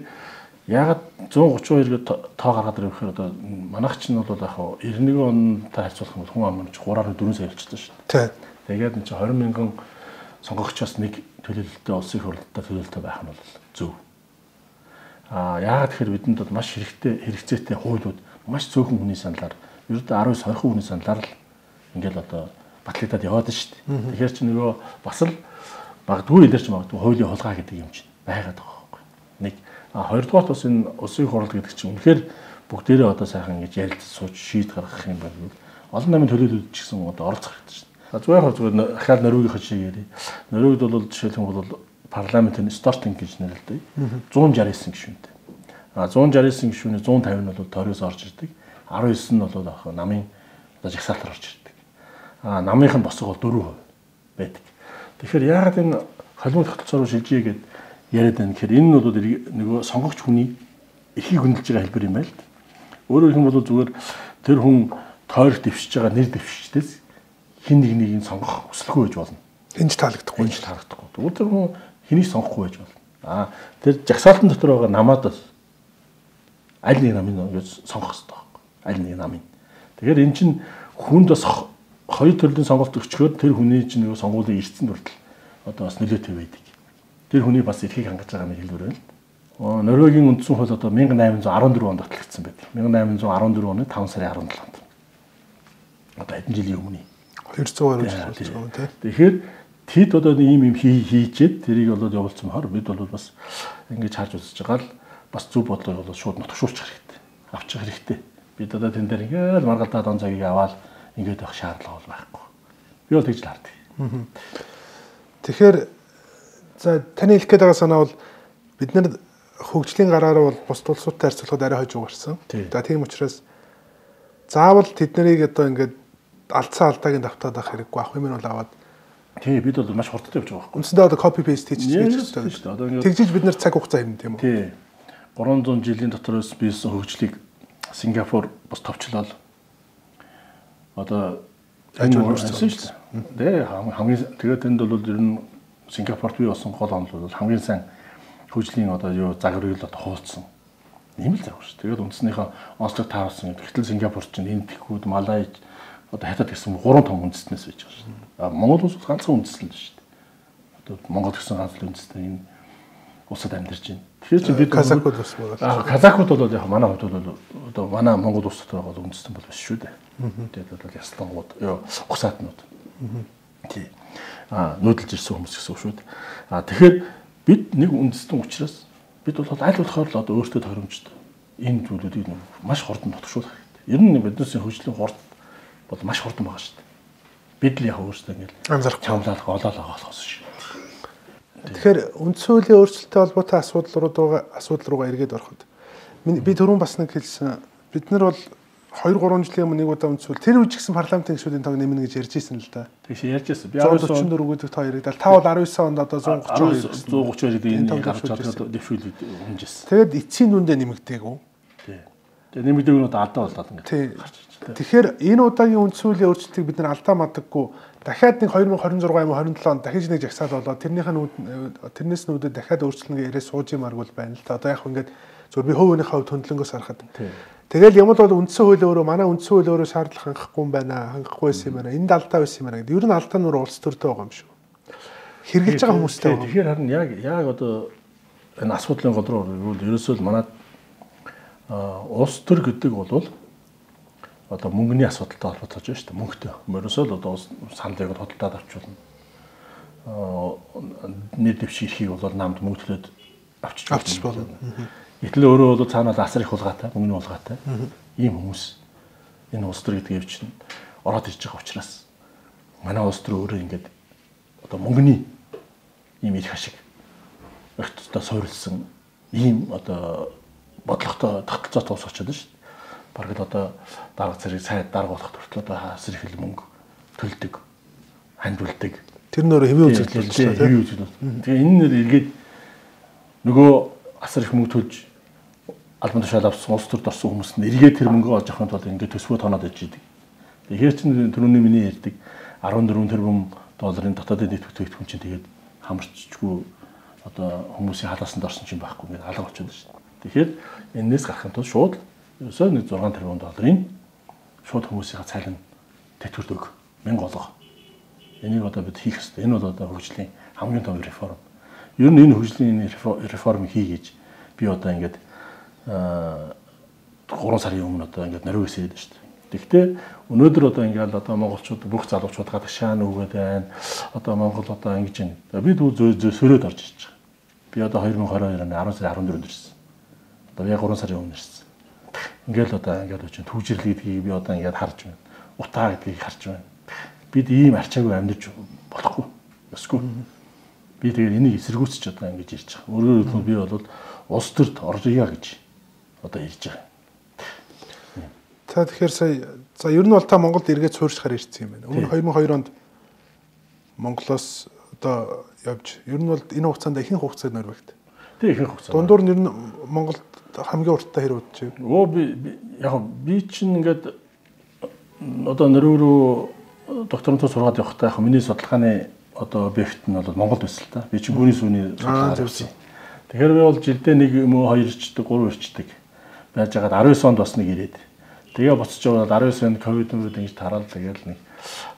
ягаад 132 гээд тоо гаргаад ирэхээр одоо манайх чинь бол яг 91 онтой харьцуулах юм бол хүн ам нь 3.4 сая болчихсон шүү дээ. Тэгээд энэ 20 мянган сонгогчоос нэг төлөөлөлтөй улсын хурлаар төлөөлөлтөй байх нь бол зөв. Яагаад тэгэхээр бидэнд бол маш хэрэгцээтэй хуулиуд маш цөөхөн хүний саналаар ердөө 19 20 хүний саналаар л ингээл одоо батлагдаад яваад шүү дээ. Тэгэхээр чи нөгөө бас л магадгүй илэрч магадгүй хуулийн хулгай гэдэг юм чинь байгаад байгаа байхгүй. Нэг хоёрдугаар бас энэ улсын хурал гэдэг чинь үнэхээр бүгдээрээ одоо сайхан ингэж ярилцаж сууж шийд гаргах юм байна. Олон намын төлөөлөлд ч гэсэн одоо оролцох хэрэгтэй шүү дээ. Зүгээр ахаал Норвегийн шиг ярий. Норвегид бол жишээлбэл бол парламентын стартинг гэж нэрлэдэг. 169 гишүүнтэй. 169 гишүүний 150 нь бол тойроос орж ирдэг. 19 нь бол яг намын одоо жагсаалтаар орж ирдэг. Намынх нь босго бол 4% байдаг. Тэгэхээр яагаад энэ холимог тогтолцоо руу шилжиж гээд яриад байна гэхээр энэ нь бол нөгөө сонгогч хүний эрхийг хөндлөж байгаа хэлбэр юм байл. Өөрөөр хэлбэл зүгээр тэр хүн тойрог дэвшиж байгаа нэр дэвшигчдээс хин нэг сонгох хүсэлгүй байж болно. Энд таалагдахгүй. Тэгвэл тэр хүн хэнийг сонгохгүй байж болно. Тэр жагсаалтан дотор байгаа намаад аль нэг намын гэж сонгох хэрэгтэй байхгүй. Аль нэг намын. Тэгэхээр эн чинь хүнд бас хоёр төрлийн сонголт өгчгөөд тэр хүний чинь нөгөө сонгуулийн эрдсэн хүртэл одоо бас нөлөөтэй байдаг. Тэр хүний бас эрхийг хангаж байгаа нэг хэлбэр байна. Норвегийн үндсэн хууль одоо 1814 онд батлагдсан байдаг. 1814 оны 5 сарын 17-нд. Одоо хэдэн жилийн өмнө. 200 гаруй жил болж байгаа тийм. Тэгэхээр тэд одоо ийм хийжээд тэрийг болоод явуулсан хор бид бол бас ингэж харж үзэж байгаа л бас зөв бодлого бол шууд нотгшуулчих хэрэгтэй. Авчих хэрэгтэй. Бид одоо тэн дээр ингээл маргалдаад он цагийг аваад ингээд явах шаардлага бол байхгүй. Би бол тэгж л харддаг. Тэгэхээр за таны хэлэх гээд байгаа санаа бол бид нар хөгжлийн гараараа бол бус улсуудтай харьцуулахад арай хойж угарсан. За тийм учраас заавал тэднийг одоо ингээд алдсан алдаагийн давтаад авах хэрэггүй. Ах юм нь бол аваад тий бид бол маш хурдтай явж байгаа байхгүй. Үндсэндээ одоо copy paste хийж байгаа шүү дээ. Тэгжиж бид нар цаг хугацаа хэмнэ тийм үү? Тий. 300 жилийн дотроос бийсэн хөгжлийг Сингапур бас товчлол одоо ажиглуулсан шүү дээ. Хамгийн тэгээд энд бол ер нь Сингапурт бий болсон гол онол бол хамгийн сайн хөгжлийн одоо юу загварыг л одоо хуудсан. Ийм л загвар шүү. Тэгээд үндснийхээ онцлог таарсан. Гэтэл Сингапур чинь энэ тэхүүд Малайз одоо хятад гэсэн 3 том үндэстнээс байж байгаа шүү. Монгол улс ганцхан үндэстэн л шүү дээ. Одоо Монгол гэсэн ганцхан үндэстэн энэ улсад амьдарч байна. Тэгэхээр чи бид казакууд бас байгаа. Казакууд бол яг манай хувьд бол одоо манай Монгол улс дотор бол үндэстэн бол биш шүү дээ. Тэгээд бол яслангууд ёо ухсаатнууд. Тий. Нүүдэлж ирсэн хүмүүс гэсэн үг шүү дээ. Тэгэхээр бид нэг үндэстэн учраас бид бол аль болохоор л одоо өөртөө тохиромжтой энэ зүйлүүдийг маш хурдан нотгшуулах хэрэгтэй. Ер нь биднээс хөгжлийн хурд бол маш хурдан байгаа шүү дээ. Бид л яг өөрсдөө ингээл анзаарах чамлалах олоолаа болохоос шүү. Тэгэхээр үндсэн хуулийн өөрчлөлттэй холбоотой асуудал руугаа эргээд ороход би түрүүн бас нэг хэлсэн. Бид нар бол 2-3 жилийн өмнө нэг удаа үндсэн хууль тэр үеч гэсэн парламентын гишүүдийн тоог нэмнэ гэж ярьж ирсэн л да. Тэгш ярьж ирсэн. Би 144 гэдэг тоо яригдал. Та бол 19 онд одоо 132 гэдэг энэ гарч чадаад дэвшүүлээд хүнжсэн. Тэгээд эцсийн дүндээ нэмэгдээгүү. Тий. Тэгээ нэмэгдээгүй нь одоо алдаа болоод ингээд гарч ирж байна. Тэгэхээр энэ удаагийн үндсүүлийн өөрчлөлтийг бид нар алдаа мадаггүй дахиад нэг 2026 юм уу 27 онд дахиж нэг жагсаал болоод тэрнээс нүүдээ дахиад өөрчлөлт яриа сууж юмаргүй байна л та. Одоо яг ингээд зөв би хувийнхээ хувьд хөндлөнгөөс харахад. Тэгэл юм бол үндсэн хууль өөрөө манай үндсэн хууль өөрөө шаардлага хангахгүй юм байна, хангахгүй байсан юм байна. Энд алдаа байсан юм байна гэдэг. Ер нь алдаа нь улс төртэй байгаа юм шүү. Хэрглэж байгаа хүмүүстэй. Тэгэхээр харин яг одоо энэ асуудлын гол руу ерөөсөө л манай улс төр гэдэг бол одоо мөнгөний асуудалтай холбоотой байна шүү дээ. Мөнгөтэй. Ерөөсөө л одоо сандыг хөдөлтөд авчулна. Нийт дэвших эрхийг бол намд мөнгөлөөд авчиж болно. Гэтэл өөрөө бол цаанаа асар их улгаатай, мөнгөний улгаатай. Ийм хүмүүс энэ улс төр гэдэг явж чинь ороод ирж байгаа учраас манай улс төр өөрөө ингээд одоо мөнгөний ийм их ашиг өгтөдөө суурилсан ийм одоо бодлоготой тогтолцоотой ус очоод шүү дээ. Бараг л одоо дарга зэрэг сайд дарга болох төртөл одоо асар их мөнгө төлдөг, хандвалдаг. Тэр нөр хэвийн үзэгдэл шүү дээ. Хэвийн үзэгдэл. Тэгээ энэ нэр эргээд нөгөө асар их мөнгө төлж албан тушаал авсан улс төрд орсон хүмүүс нь эргээд тэр мөнгөө олж авахын тулд ингээд төсвөө тоноод иж идэг. Тэгэхээр чинь түрүүний миний ярьдаг 14 тэрбум долларын дотоодын нийт бүтээгдэхүүн чинь тэгээд хамарчгүй одоо хүмүүсийн халаасанд орсон чинь байхгүй ингээд алга болчиход шүү дээ. Тэгэхээр энэс гарахын тулд шууд ерөөсөө нэг 6 тэрбум долларын шууд хүмүүсийн цалин тэтгэврт өг 1000 олго. Энийг одоо бид хийх хэрэгтэй. Энэ бол одоо хөгжлийн хамгийн том реформ. Ер нь энэ хөгжлийн реформыг хийгээж би одоо ингээд 3 сарын өмнө одоо ингээд нариу хийсэн шүү дээ. Тэгэхдээ өнөөдөр одоо ингээд одоо монголчууд бүх залуучууд гадаг шаан өгөөд байна. Одоо Монгол одоо ингэж байна. Би сөрөөд орж ирж байгаа. Би одоо 2022 оны 10 сарын 14-нд ирсэн. Одоо яг 3 сарын өмнө ирсэн. Ингээл одоо ингээд очиж түгжирэл гэдгийг би одоо ингээд харж байна. Утаа гэдгийг харж байна. Бид ийм арчаагүй амьдарч болохгүй. Өсгүй. Би тэгээд энийг эсэргүүцэж одоо ингэж ирж байгаа. Өөрөөр хэлбэл би бол улс төрд оржия гэж одоо ирж байгаа. За тэгэхээр сая ер нь бол та Монголд эргээд суурьшихаар ирсэн юм байна. Өмнө 2002 онд Монголоос одоо явж ер нь бол энэ хугацаанд ихэнх хугацаанд нөрвөгт. Тэг ихэнх хугацаа. Дундуур нь ер нь Монголд хамгийн урттай хэрэг удаж байна. Оо би чинь ингээд одоо нөрөөрөө докторантур сургаад явахдаа яг миний судалгааны одоо объект нь бол Монголд байсан л та. Би чинь гүрийн сүүний судалгаа хийсэн. Тэгэхээр би бол жилдээ нэг юм уу 2 ирчдэг, 3 ирчдэг байж байгаад 19 онд бас нэг ирээд. Тэгээ буцаж яваад 19 онд ковид ингэж тараад тэгээд нэг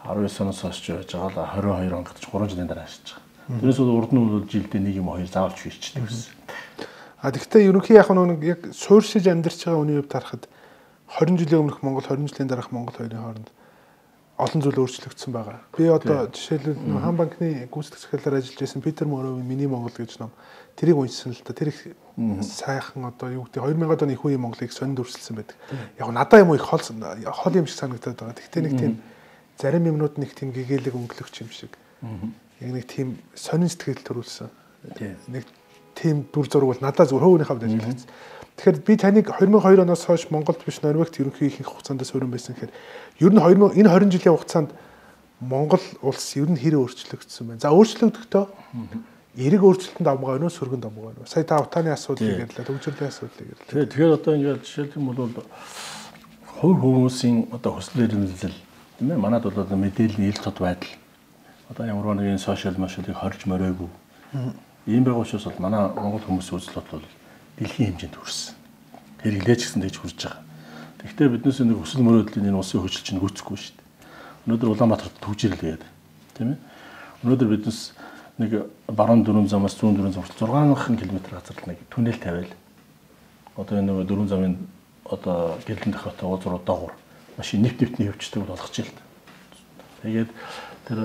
19 оноос хойш байж байгаа л 22 он гэж 3 жилийн дараа ашиж байгаа. Тэрнээс урд нь бол жилдээ нэг юм 2 заавалч ирчдэг гэсэн. Тэгэхдээ ерөнхий яг нэг яг суурьшиж амьдарч байгаа үний хувьд харахад 20 жилийн өмнөх Монгол 20 жилийн дараах Монгол хоёрын хооронд олон зүйл өөрчлөгдсөн байгаа. Би одоо жишээлбэл хаан банкны гүйцэтгэх захиалаар ажиллаж байсан Питер Моровын Миний Монгол гэж ном тэрийг уншсан л та. Тэр их сайхан одоо юу гэдэг 2000-ад оны их үеийн Монголыг сонинд өрсөлдсөн байдаг. Яг надаа юм их хол юм шиг санагдаад байгаа. Гэхдээ нэг тийм зарим юмнууд нэг тийм гэгээлэг өнгөлөгч юм шиг. Яг нэг тийм сонин сэтгэл төрүүлсэн. Нэг тийм дүр зураг бол надад зөв хөөнийхөө хувьд ажиллагдсан. Тэгэхээр би таныг 2002 оноос хойш Монголд биш Норвегт ерөнхий ихэнх хугацаанд суурин байсан гэхээр ер нь энэ 20 жилийн хугацаанд Монгол улс ер нь хэрэг өөрчлөгдсөн байна. За өөрчлөгдөхдөө эрэг өөрчлөлтөнд амгаа өнөө сөргөнд амгаа өнөө. Сая та утааны асуудлыг ярьлаа, төгжрлийн асуудлыг ярьлаа. Тэгэхээр одоо ингээд жишээлх юм бол хувь хүмүүсийн одоо хүсэл эрмэлзэл тийм ээ манад бол одоо мэдээллийн ил тод байдал одоо ямар нэгэн сошиал машиныг хорж моройгүй. Ийм байгаа учраас бол манай Монгол хүмүүсийн үзэл бодол дэлхийн хэмжээнд хүрсэн. Хэрэглээч гэсэн тэгж хүрж байгаа. Тэгэхдээ биднээс нэг хүсэл мөрөөдлийн энэ улсын хөгжил чинь гүйцэхгүй шүү дээ. Өнөөдөр Улаанбаатарт төгжрэл гээд тийм ээ. Өнөөдөр биднээс нэг баруун дөрвөн замаас зүүн дөрвөн зам 6 км газар нэг түнэл тавиал. Одоо энэ нэг дөрвөн замын одоо гэлэн дохиотой уулзруу доогуур машин нэвтний явждаг болгож ил. Тэгээд тэр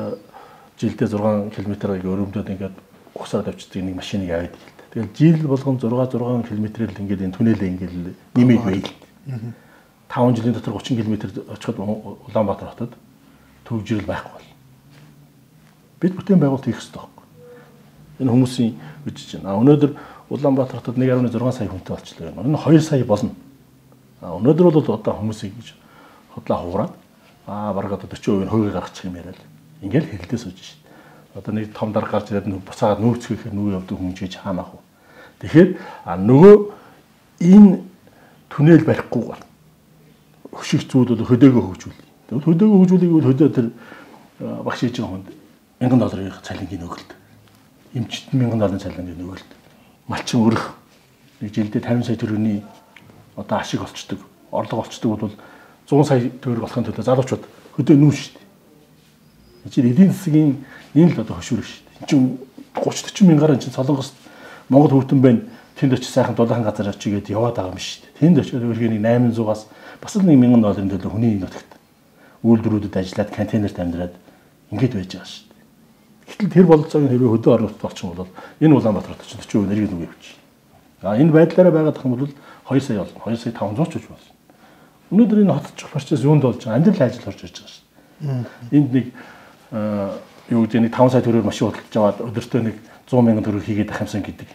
жилдээ 6 км-ыг өрөмдөд ингээд угсаад авчдаг нэг машиныг аваад ил. Тэгэл жил болгон 6 км-ээр л ингээд энэ түнэлээ ингээд нэмээд байл. 5 жилийн дотор 30 км очиход Улаанбаатар хотод төгжрэл байхгүй бол. Бид бүтээн байгуулалт хийх хэрэгтэй байхгүй. Энэ хүмүүсийн үжиж байна. Өнөөдөр Улаанбаатар хотод 1.6 сая хүнтэй болчихлоо. Энэ 2 сая болно. Өнөөдөр бол одоо хүмүүсийг гэж хотлоо хуураад бараг одоо 40% хөөгээ гаргачих юм яриад. Ингээл хэрэлдээ сууж шít. Одоо нэг том дарга гарч ирээд буцаагаад нүүцгээхээр нүү явдаг хүн чиж хаанах вэ? Тэгэхээр нөгөө энэ түнэл барихгүйгээр хөшиг зүйл бол хөдөөгөө хөгжүүлнэ. Тэгвэл хөдөөгөө хөгжүүлэх бол хөдөө тэр багш хийж байгаа хүнд $1000 цалингийн өгөлт. Эмчт $1000 цалингийн өгөлт. Малчин өрөх нэг жилдээ 50 сая төгрөгийн одоо ашиг олцдог, орлого олцдог бол 100 сая төгрөг болохын төлөө залуучууд хөдөө нүүн шүү дээ. Эцэг эдийн засгийн энэ л одоо хөшүүрэг шүү дээ. Энд чинь 30-40 мянгаар чинь Солонгост Монгол хүүтэн байна. Тэнд очиж сайхан дулаахан газар очигээд яваад байгаа юм шүү дээ. Тэнд очиод өөрхөн $800-аас бас л $1000 төлөө хүний нутагт үйлдвэрүүдэд ажиллаад контейнерт амьдраад ингэж байж байгаа шүү дээ. Гэтэл тэр бололцоог хэрвээ хөдөө оруулалт болчих юм бол энэ Улаанбаатарт очиж 40% нэрийг нүгэ явчих. Энэ байдлаараа байгаад байгаа юм бол 2 сая болно. 2 сая 500 ч болно. Өнөөдөр энэ хотч процесс юунд болж байгаа? Амьдрал ажил орж ирж байгаа шүү дээ. Энд нэг юу гэдэг нэг 5 сая төгрөгөөр машин худалдаж аваад өдөртөө нэг 100,000 төгрөг хийгээд ах юмсан гэдэг.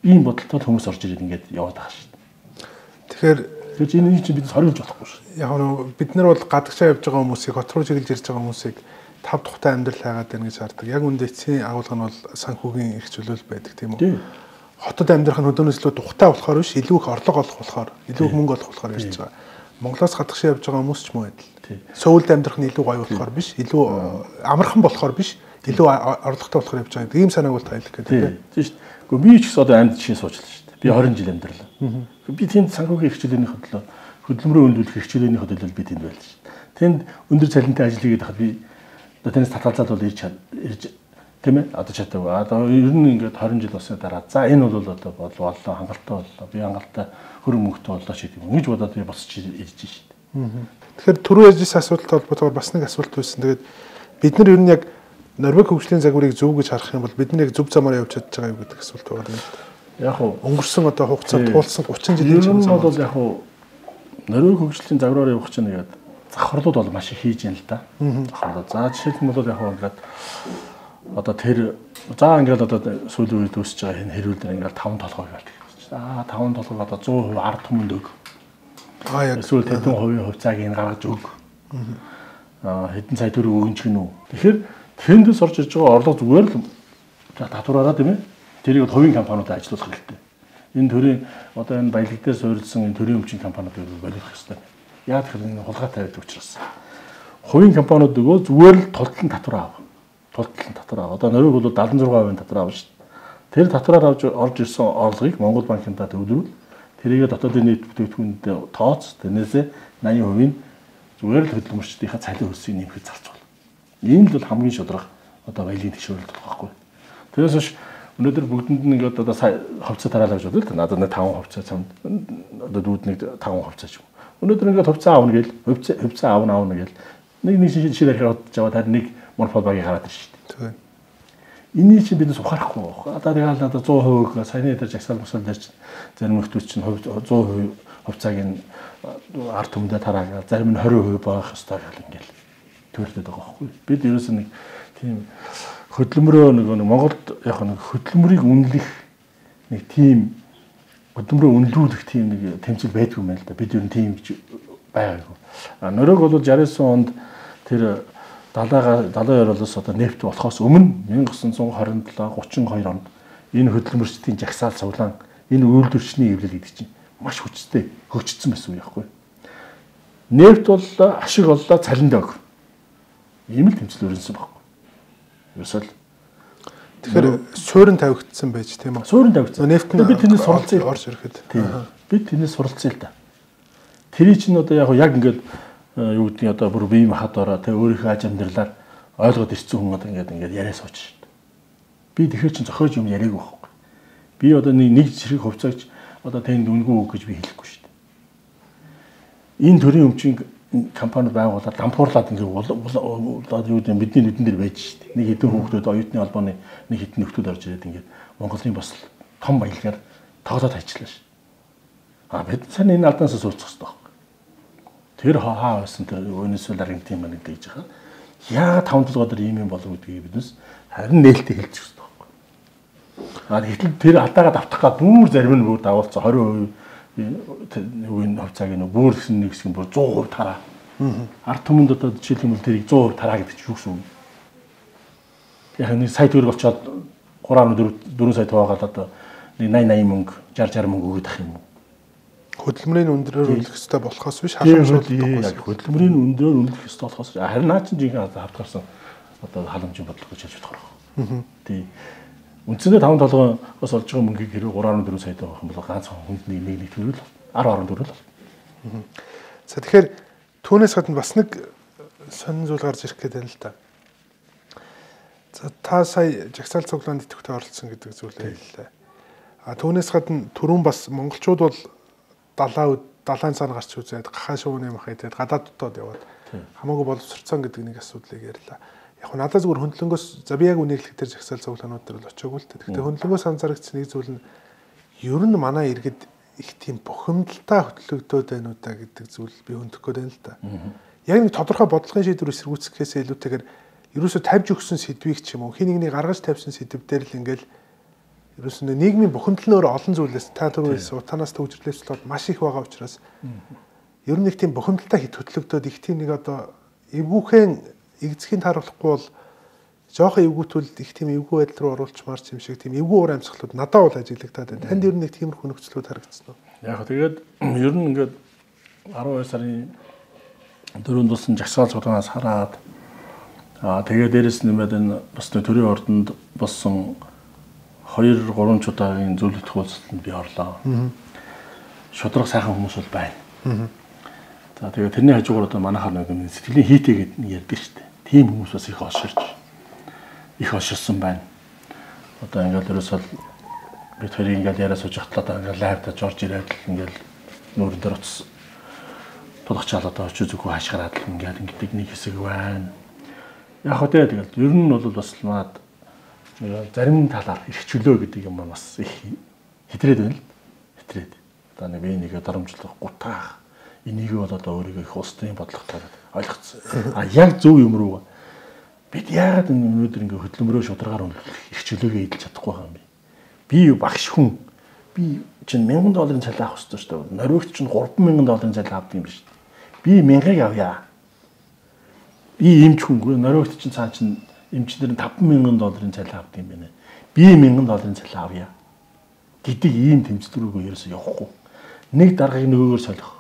Ийм бодолтой хүмүүс орж ирээд ингээд яваад байгаа шүү дээ. Тэгэхээр энэ чинь бид сорилж болохгүй шүү. Яг нь бид нар бол гадагшаа явж байгаа хүмүүсийг хот руу чиглэж ирж байгаа хүмүүсийг тав тухтай амьдрал хайгаад байна гэж хардаг. Яг үндэ эцсийн агуулга нь бол санхүүгийн их чөлөөл байдаг тийм үү? Хотод амьдрах нь өдөөнөөс илүү тухтай болохоор биш, илүү их орлого олох болохоор, илүү их мөнгө олох болохоор ярьж байгаа. Монголоос гадагшаа явж байгаа хүмүүс ч мөн адил. Сөүлд амьдрах нь илүү гоё болохоор биш, илүү амархан болохоор биш, илүү орлоготой болохоор явж байгаа. Ийм санааг бол тайлах гэдэг тийм шүү дээ. Гэхдээ би ч гэсэн одоо амьд жишээ суучлаа шүү дээ. Би 20 жил амьдралаа. Би тэнд санхүүгийн хэрэгчлээний хөдөлгөөн, хөдөлмөрөө өндөрлөх хэрэгчлээний хөдөлгөөл би тэнд байлаа шүү дээ. Тэнд өндөр цалинтай ажил хийгээд хахад би одоо тэнэс татгалзаад бол ирж тийм ээ одоо чатав. Одоо ер нь ингээд 20 жил болсны дараа за энэ бол одоо боллоо хангалттай боллоо. Би хангалттай хөрөнгө мөнгөтэй боллоо ч гэдэг юм. Ингэж бодоод би босч ирж шүү дээ. Тэгэхээр түрүү ярьжсэн асуулттай холбоотойгоор бас нэг асуулт байсан. Тэгээд бид нар ер нь яг Норвег хөгжлийн загварыг зөв гэж харах юм бол бид нар яг зөв замаар явж чадж байгаа юу гэдэг асуулт байгаа юм. Яг уу өнгөрсөн одоо хугацаанд туулсан 30 жилийн чинь бол яг уу Норвег хөгжлийн загвараар явах чинь нэгээд завхарлууд бол маш их хийж яана л да. Завхарлууд. За жишээлх юм бол яг уу ингээд одоо тэр за ингээд одоо сүүлийн үед үүсэж байгаа энэ хэрүүл дээр ингээд 5 толгой гэдэг. За 5 толгойг одоо 100% ард түмэнд өг. Яг эсвэл хэдэн хувийн хувьцааг энэ гаргаж өг. Хэдэн сая төгрөг өгөн ч гинүү. Тэгэхээр тэндээс орж иж байгаа орлого зүгээр л татвараараа тийм ээ. Тэрийг хувийн компаниудад ажилуулах хэрэгтэй. Энэ төрийн одоо энэ баялаг дээр суурилсан энэ төрийн өмчийн компаниудыг боловсрох хэрэгтэй. Яг тэр энэ хулгай тавиад учраас. Хувийн компаниуд өгөө зүгээр л тултлан татвар аав. Тултлан татвар аав. Одоо Норвег бол 76% татвар аав шүү дээ. Тэр татвараар орж ирсэн орлогыг Монгол банкнда төвлөрүүл тэрийгээ дотоодын нийт бүтээгдэхүүнтэй тооц тэрнээсээ 80% зүгээр л хөдөлмөрчдийнхаа цалин хөлсийг нэмэхэд зарцуул. Ийм л бол хамгийн шударга одоо баялагын тэгшүүрэлт болох байхгүй. Тэрээс биш өнөөдөр бүгдэнд нь ингээд одоо хувьцаа тараалаа гэж бодлоо. Надад нэг 5 хувьцаа цамд одоо дүүд нэг 5 хувьцаа ч юм. Өнөөдөр ингээд хувьцаа аавна гээл хувьцаа аавна гээл нэг шишээр хараад жаваад харин нэг монопол багийг хараад ирж шүү дээ. Энийг чинь биднес ухаарахгүй байна. Одоо тэгэл надад 100% саяны дээр жагсаал мосол дээр чинь зарим хүмүүс чинь 100% хувьцааг нь ард түмэндээ тараагаад зарим нь 20% байх ёстой гэл ингээл төрөлдөд байгаа байхгүй. Бид ерөөс нэг тийм хөдөлмөрөө нэг Монголд яг нэг хөдөлмөрийг үнэлэх нэг тийм хөдөлмөрөө үнэлүүлэх тийм нэг тэмцэл байдгүй юм байна л да. Бид ер нь тийм байгаагүй. Норвег бол 69 онд тэр 70 орлоос одоо нефт болохоос өмнө 1927 32 онд энэ хөдөлмөрчдийн жагсаал цуглаан энэ үйлдвэрчний эвлэл гэдэг чинь маш хүчтэй хөгжсөн байсан үе байхгүй. Нефт бол ашиг оллоо цалинд өг. Ийм л тэмцэл өрнөсөн байхгүй. Ерөөсөл тэгэхээр суурин тавигдсан байж тийм үү? Суурин тавигдсан. Нефт нь бид тэрнээс суралцсан орж ирэхэд. Бид тэрнээс суралцсан л да. Тэрий чинь одоо яг ингээд юу гэдгийг одоо бүр бие махбодороо тэг өөрийнхөө аж амьдралаар ойлгоод ирсэн хүн одоо ингээд яриа сууж шүү дээ. Би тэгэхээр чинь зохиож юм яриаг байхгүй. Би одоо нэг зэрэг хувьцаагч одоо тэнд үнгүй үг гэж би хэлэхгүй шүү дээ. Энэ төрлийн өмчийн компани байгуулаад дампуурлаад ингээд одоо юу гэдэг бидний нүдэн дээр байж шүү дээ. Нэг хэдэн хүүхдүүд оюутны албаны нэг хэдэн нөхдүүд орж ирээд ингээд Монголын бас том баялагаар тоглоод ажиллаа шүү. Бид сайн энэ алдаанаас сурцах хэрэгтэй байна. Тэр хаа байсан тэр өнөөсөл Аргентин маань гэж байгаа. Яагаад 5 толгойд ийм юм болов гэдгийг биднес харин нээлттэй хэлчих хэрэгтэй байна. Гэтэл тэр алдаагаа давтах гад бүр зарим нь бүр дагуулсан 20% үеийн хувьцааг нь бүр гэсэн нэг хэсэг нь бүр 100% тараа. Ард түмэнд одоо жишээлбэл тэрийг 100% тараа гэдэг чинь юу гэсэн үг? Яг нэг сая төгрөг болчоод 3.4 сая тоогаад одоо нэг 80 мөнгө 60 мөнгө өгöd ах юм уу? Хөдөлмөрийн өндрөөр үнэлэх ёстой болохоос биш халамжуулдаг. Хөдөлмөрийн өндрөөр үнэлэх ёстой болохоос харин наа чинь жинхэнэ хавтгарсан одоо халамжийн бодлого гэж хэлж болохоор. Тий. Үндсэндээ 5 толгоос олж байгаа мөнгийг хэрэг 3.4 сая төгрөг байх юм бол ганц хүнд нэг төгрөг 10.4 л. За тэгэхээр түүнээс гадна бас нэг сонин зүйл гарч ирэх гэдэг юм л та. За та сая жагсаал цуглаанд идэвхтэй оролцсон гэдэг зүйлээ хэллээ. Түүнээс гадна түрүүн бас монголчууд бол далайн цаана гарч үзээд гахаа шууны мах идээд гадаад дотоод яваад хамаагүй боловсрцсан гэдэг нэг асуудлыг ярьлаа. Яг нь надад зүгээр хөндлөнгөөс за би яг үнэрлэх дээр жагсаал цуглаанууд дээр бол очиагүй л та. Гэхдээ хөндлөнгөөс анзаарэгдсэн нэг зүйл нь ер нь манай иргэд их тийм бухимдалтай хөтлөгдөөд байна уу та гэдэг зүйл би хөндөх гээд байна л да. Яг нэг тодорхой бодлогын шийдвэр эсэргүүцэхээс илүүтэйгээр ерөөсө тавьж өгсөн сэдвийг ч юм уу хин нэгний гаргаж тавьсан сэдв дээр л ингээл ерөөсөө нийгмийн бухимдал нь өөр олон зүйлээс та түрүүс утанаас төвжирлээс болоод маш их байгаа учраас ер нь нэг тийм бухимдалтай хит хөтлөгдөөд их тийм нэг одоо эвгүйхэн игзхийн тааруулахгүй бол жоохон эвгүүтвэл их тийм эвгүй байдал руу оруулчмаар юм шиг тийм эвгүй уур амьсгалууд надад бол ажиглагдаад байна. Танд ер нь нэг тиймэрхүү нөхцлүүд харагдсан уу? Яг тэгээд ер нь ингээд 12 сарын 4-нд болсон жагсаал цуглаанаас хараад тэгээд дээрэс нэмээд энэ бас төрийн ордонд болсон 2-3 удаагийн зөвлөлт хуулцанд би орлоо. Шудраг сайхан хүмүүс бол байна. За тэгээд тэрний хажуугаар одоо манайхаар нэг сэтгэлийн хийтэй гэдэг нэг ярьдаг шүү дээ. Тийм хүмүүс бас их олширсан байна. Одоо ингээл ерөөсөө бид хоёрын ингээл яриа сууж хатлаа ингээл лайвда жорж ирээд ингээл нүүрэн дээр утас тулгачаал одоо очиж зүгөө хашгираад ингээл ингэдэг нэг хэсэг байна. Яг хөө тэгээд ер нь бол бас маад зарим талаар эрхчлөө гэдэг юм бас их хэтрээд байна л. Хэтрээд. Одоо нэг би нэг дарамжлах гутаах энийг бол одоо өөрийгөө их устын бодлоготой ойлгоцсон. Яг зөв юм руу бид яагаад өнөөдөр ингэ хөдөлмөрөө шударгаар үнэлэх эрхчлөөгээ эдэлж чадахгүй байгаа юм бэ? Би багш хүн. Би чинь $1000 цалин авах хэрэгтэй шүү дээ. Нориогч чинь $3,000 цалин авдаг юм биш. Би 1000-ыг авъя. Би эмч хүнгүй. Нориогч чинь цаа чинь эмчнэр нь $5,000 цалин авдаг юм байна. Би $1000 цалин авъя гэдэг ийм тэмцэл рүүгээ ерөөсөө явахгүй. Нэг даргаыг нөгөөгөр солих.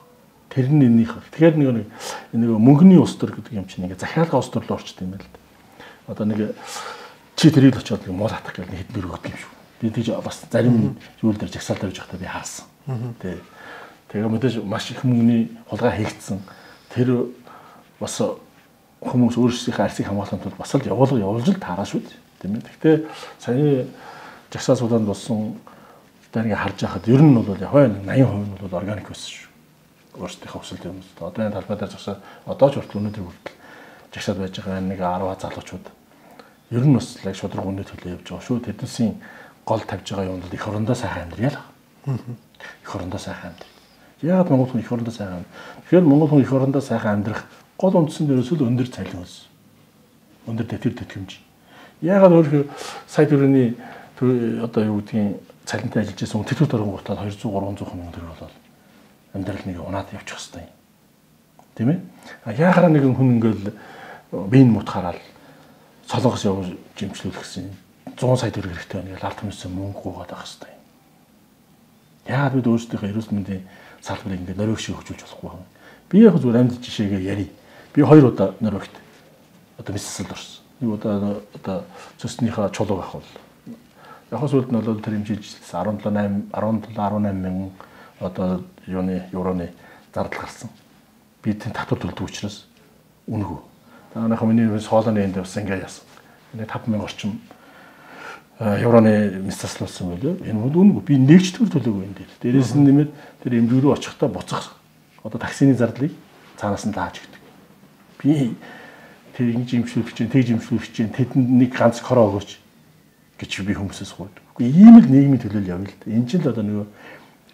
Тэр нь энийх. Тэгэхээр нэг мөнгөний ус төр гэдэг юм чинь ингээ захиалгын ус төр руу орчдөг юм байна л да. Одоо нэг чи тэрийг л очиод муу хатах гэх нэг хэдэн өргөдөг юм шүү. Би тийж бас зарим зүйл дээр жагсаал тавьж байхдаа би харсан. Тэгээ мэдээж маш их мөнгөний хулгай хийгдсэн. Тэр бас хүмүүс өөрсдийнхээ арсыг хамгаалахын тулд бас л явуулж л таараа шүү дээ. Тийм ээ. Гэхдээ саяны жагсаал сууланд болсон одоо ингээ харж байхад ер нь бол яг 80% нь бол органик байсан шүү. Өөрсдийнхөө өсөлт юм. Одоо энэ талбай дээр жагсаал одоо ч хүртэл өнөөдөр хүртэл жагсаал байж байгаа нэг 10 залуучууд ер нь бас яг шудраг үнэ төлөө явж байгаа шүү. Тэднийсийн гол тавьж байгаа юм бол их орондоо сайхан амьдрал. Их орондоо сайхан амьдрал. Яагаад монгол хүн их орондоо сайхан амьдрах? Тэгэхээр монгол хүн их орондоо сайхан амьдрах гол үндсэн дээрээс л өндөр цалин өс. Өндөр тэтгэмж. Яагаад өөрөөр сая төрөний одоо юу гэдгийг цалинтай ажиллаж байсан хүн тэтгэврт орон гутаад 200-300 мянган төгрөг болоод амьдрал нэг унаад явчих хэвээр. Тийм ээ? Яахаараа нэгэн хүн ингээл биеийн мутахаараа солонгос явж жимчлүүлэх гэсэн 100 сая төгрөг хэрэгтэй байна гэж ард түмнээс мөнгө гуйгаад байх хэвээр. Яагаад бид өөрсдийнхөө эрүүл мэндийн салбарыг ингээд нориог шиг хөгжүүлж болохгүй юм. Би яг зүгээр амьд жишээгээ ярив. Би 2 удаа нориогт одоо мессэл орсон. Нэг удаа одоо цөснийхөө чулууг авах бол яг сүлд нь бол тэр хэмжиж 17-18 мянган одоо евроны зардал гарсан. Би тэн татвар төлдөг учраас үнэгүй. Таанайхаа миний соолооны энд бас ингэ яасан. Нэг 5,000 орчим евроны мессаслуулсан байлоо. Энэ үнэгүй. Би нэгч төр төлөөгүй энэ дээр. Дээрээс нь нэмээд тэр эмнэлэг рүү очихдаа буцах одоо таксины зардлыг цаанаас нь дааж өгдөг. Би тэр ингэж имшлүүлэх чинь, тэгж имшлүүлэх чинь тэдэнд нэг ганц короо өгөөч гэж би хүмүүсээс гуйдаг. Үгүй ийм л нийгмийн төлөөл явна л да. Энэ ч л одоо нөгөө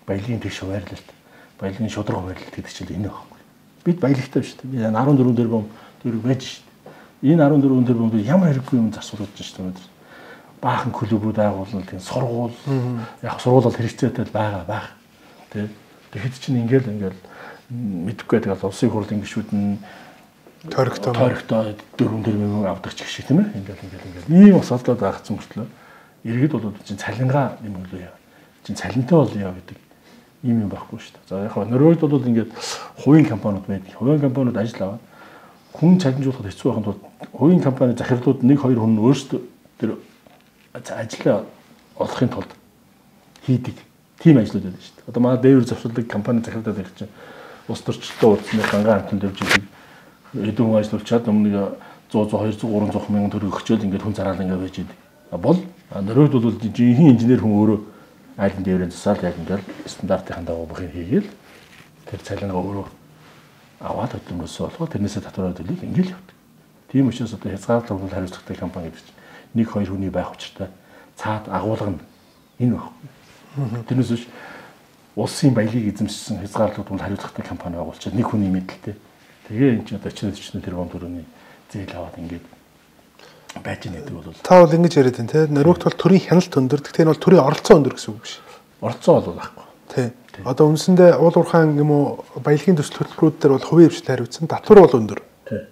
баялагын тэгш хуваарлалт, баялагын шудраг хуваарлалт гэдэг чинь энэ байхгүй. Бид баялагтай шүү дээ. Би 14 тэрбум төгрөг байж шүү дээ. Энэ 14 тэрбум ямар хэрэггүй юм засварлаж шүү дээ. Баахан клубүүд байгуулна, тийм сургууль, яг сургууль бол хэрэгцээтэй байгаа. Тэгэхэд чинь ингээл мэдэхгүй тэгэл улсын хурлын гишүүд нь тойрогтой 4 тэрбум авдаг ч гэх шиг тийм ээ. Ингээл ийм асуудлууд байгцсан мөртлөө иргэд бол чинь цалингаа нэмэлгүй яа. Чинь цалинтай бол яа гэдэг ийм юм байхгүй шүү дээ. За яг хаа Норвегид бол ингээд хувийн компаниуд байдаг. Хувийн компаниуд ажил аваад хүн чаленжуулахад хэцүү байхын тулд хувийн компани захирлууд 1-2 хүн өөрсдөө тэр ажлаа олохын тулд хийдэг тийм ажлууд байдаг шүү дээ. Одоо манай дээвэр завсардаг компани захирлууд их чинь улс төрчлөлтөө уулзсан гангаан амтнд явж идэг. Эдэн хүн ажиллаулчаад өмнө 100, 200, 300 мянган төгрөг өгчөөл ингээд хүн зараал ингээд байж идэг. Бол Норвегид бол жинхэнэ инженер хүн өөрөө айлын дээврийн засаал яг ингээд стандартын дагуу бохин хийгээл тэр цалингаа өөрөө аваад хөдөлмөрөөсөө болохоо тэрнээсээ татвараа төлөв ингээл явдаг. Тийм учраас одоо хязгаарлалт хариуцлагатай компани гэдэг чинь 1-2 хүний байх учиртай цаад агуулга нь энэ байхгүй. Тэрнээс биш улсын баялаг эзэмшсэн хязгаарлалт хариуцлагатай компани байгуулчихад нэг хүний мэдлэлтэй. Тэгээ энэ чинь одоо 40 тэрбум төгрөгийн зээл аваад ингээд байж нэгдэг бол та бол ингэж яриад байна те. Норвегт бол төрийн хяналт өндөр. Гэхдээ энэ бол төрийн оролцоо өндөр гэсэн үг биш. Оролцоо бол байхгүй. Тий. Одоо үндсэндээ уул уурхайн юм уу баялагын төсөл хөтөлбөрүүд дээр бол хувийн хвшил хариуцсан. Татвар бол өндөр. Тий.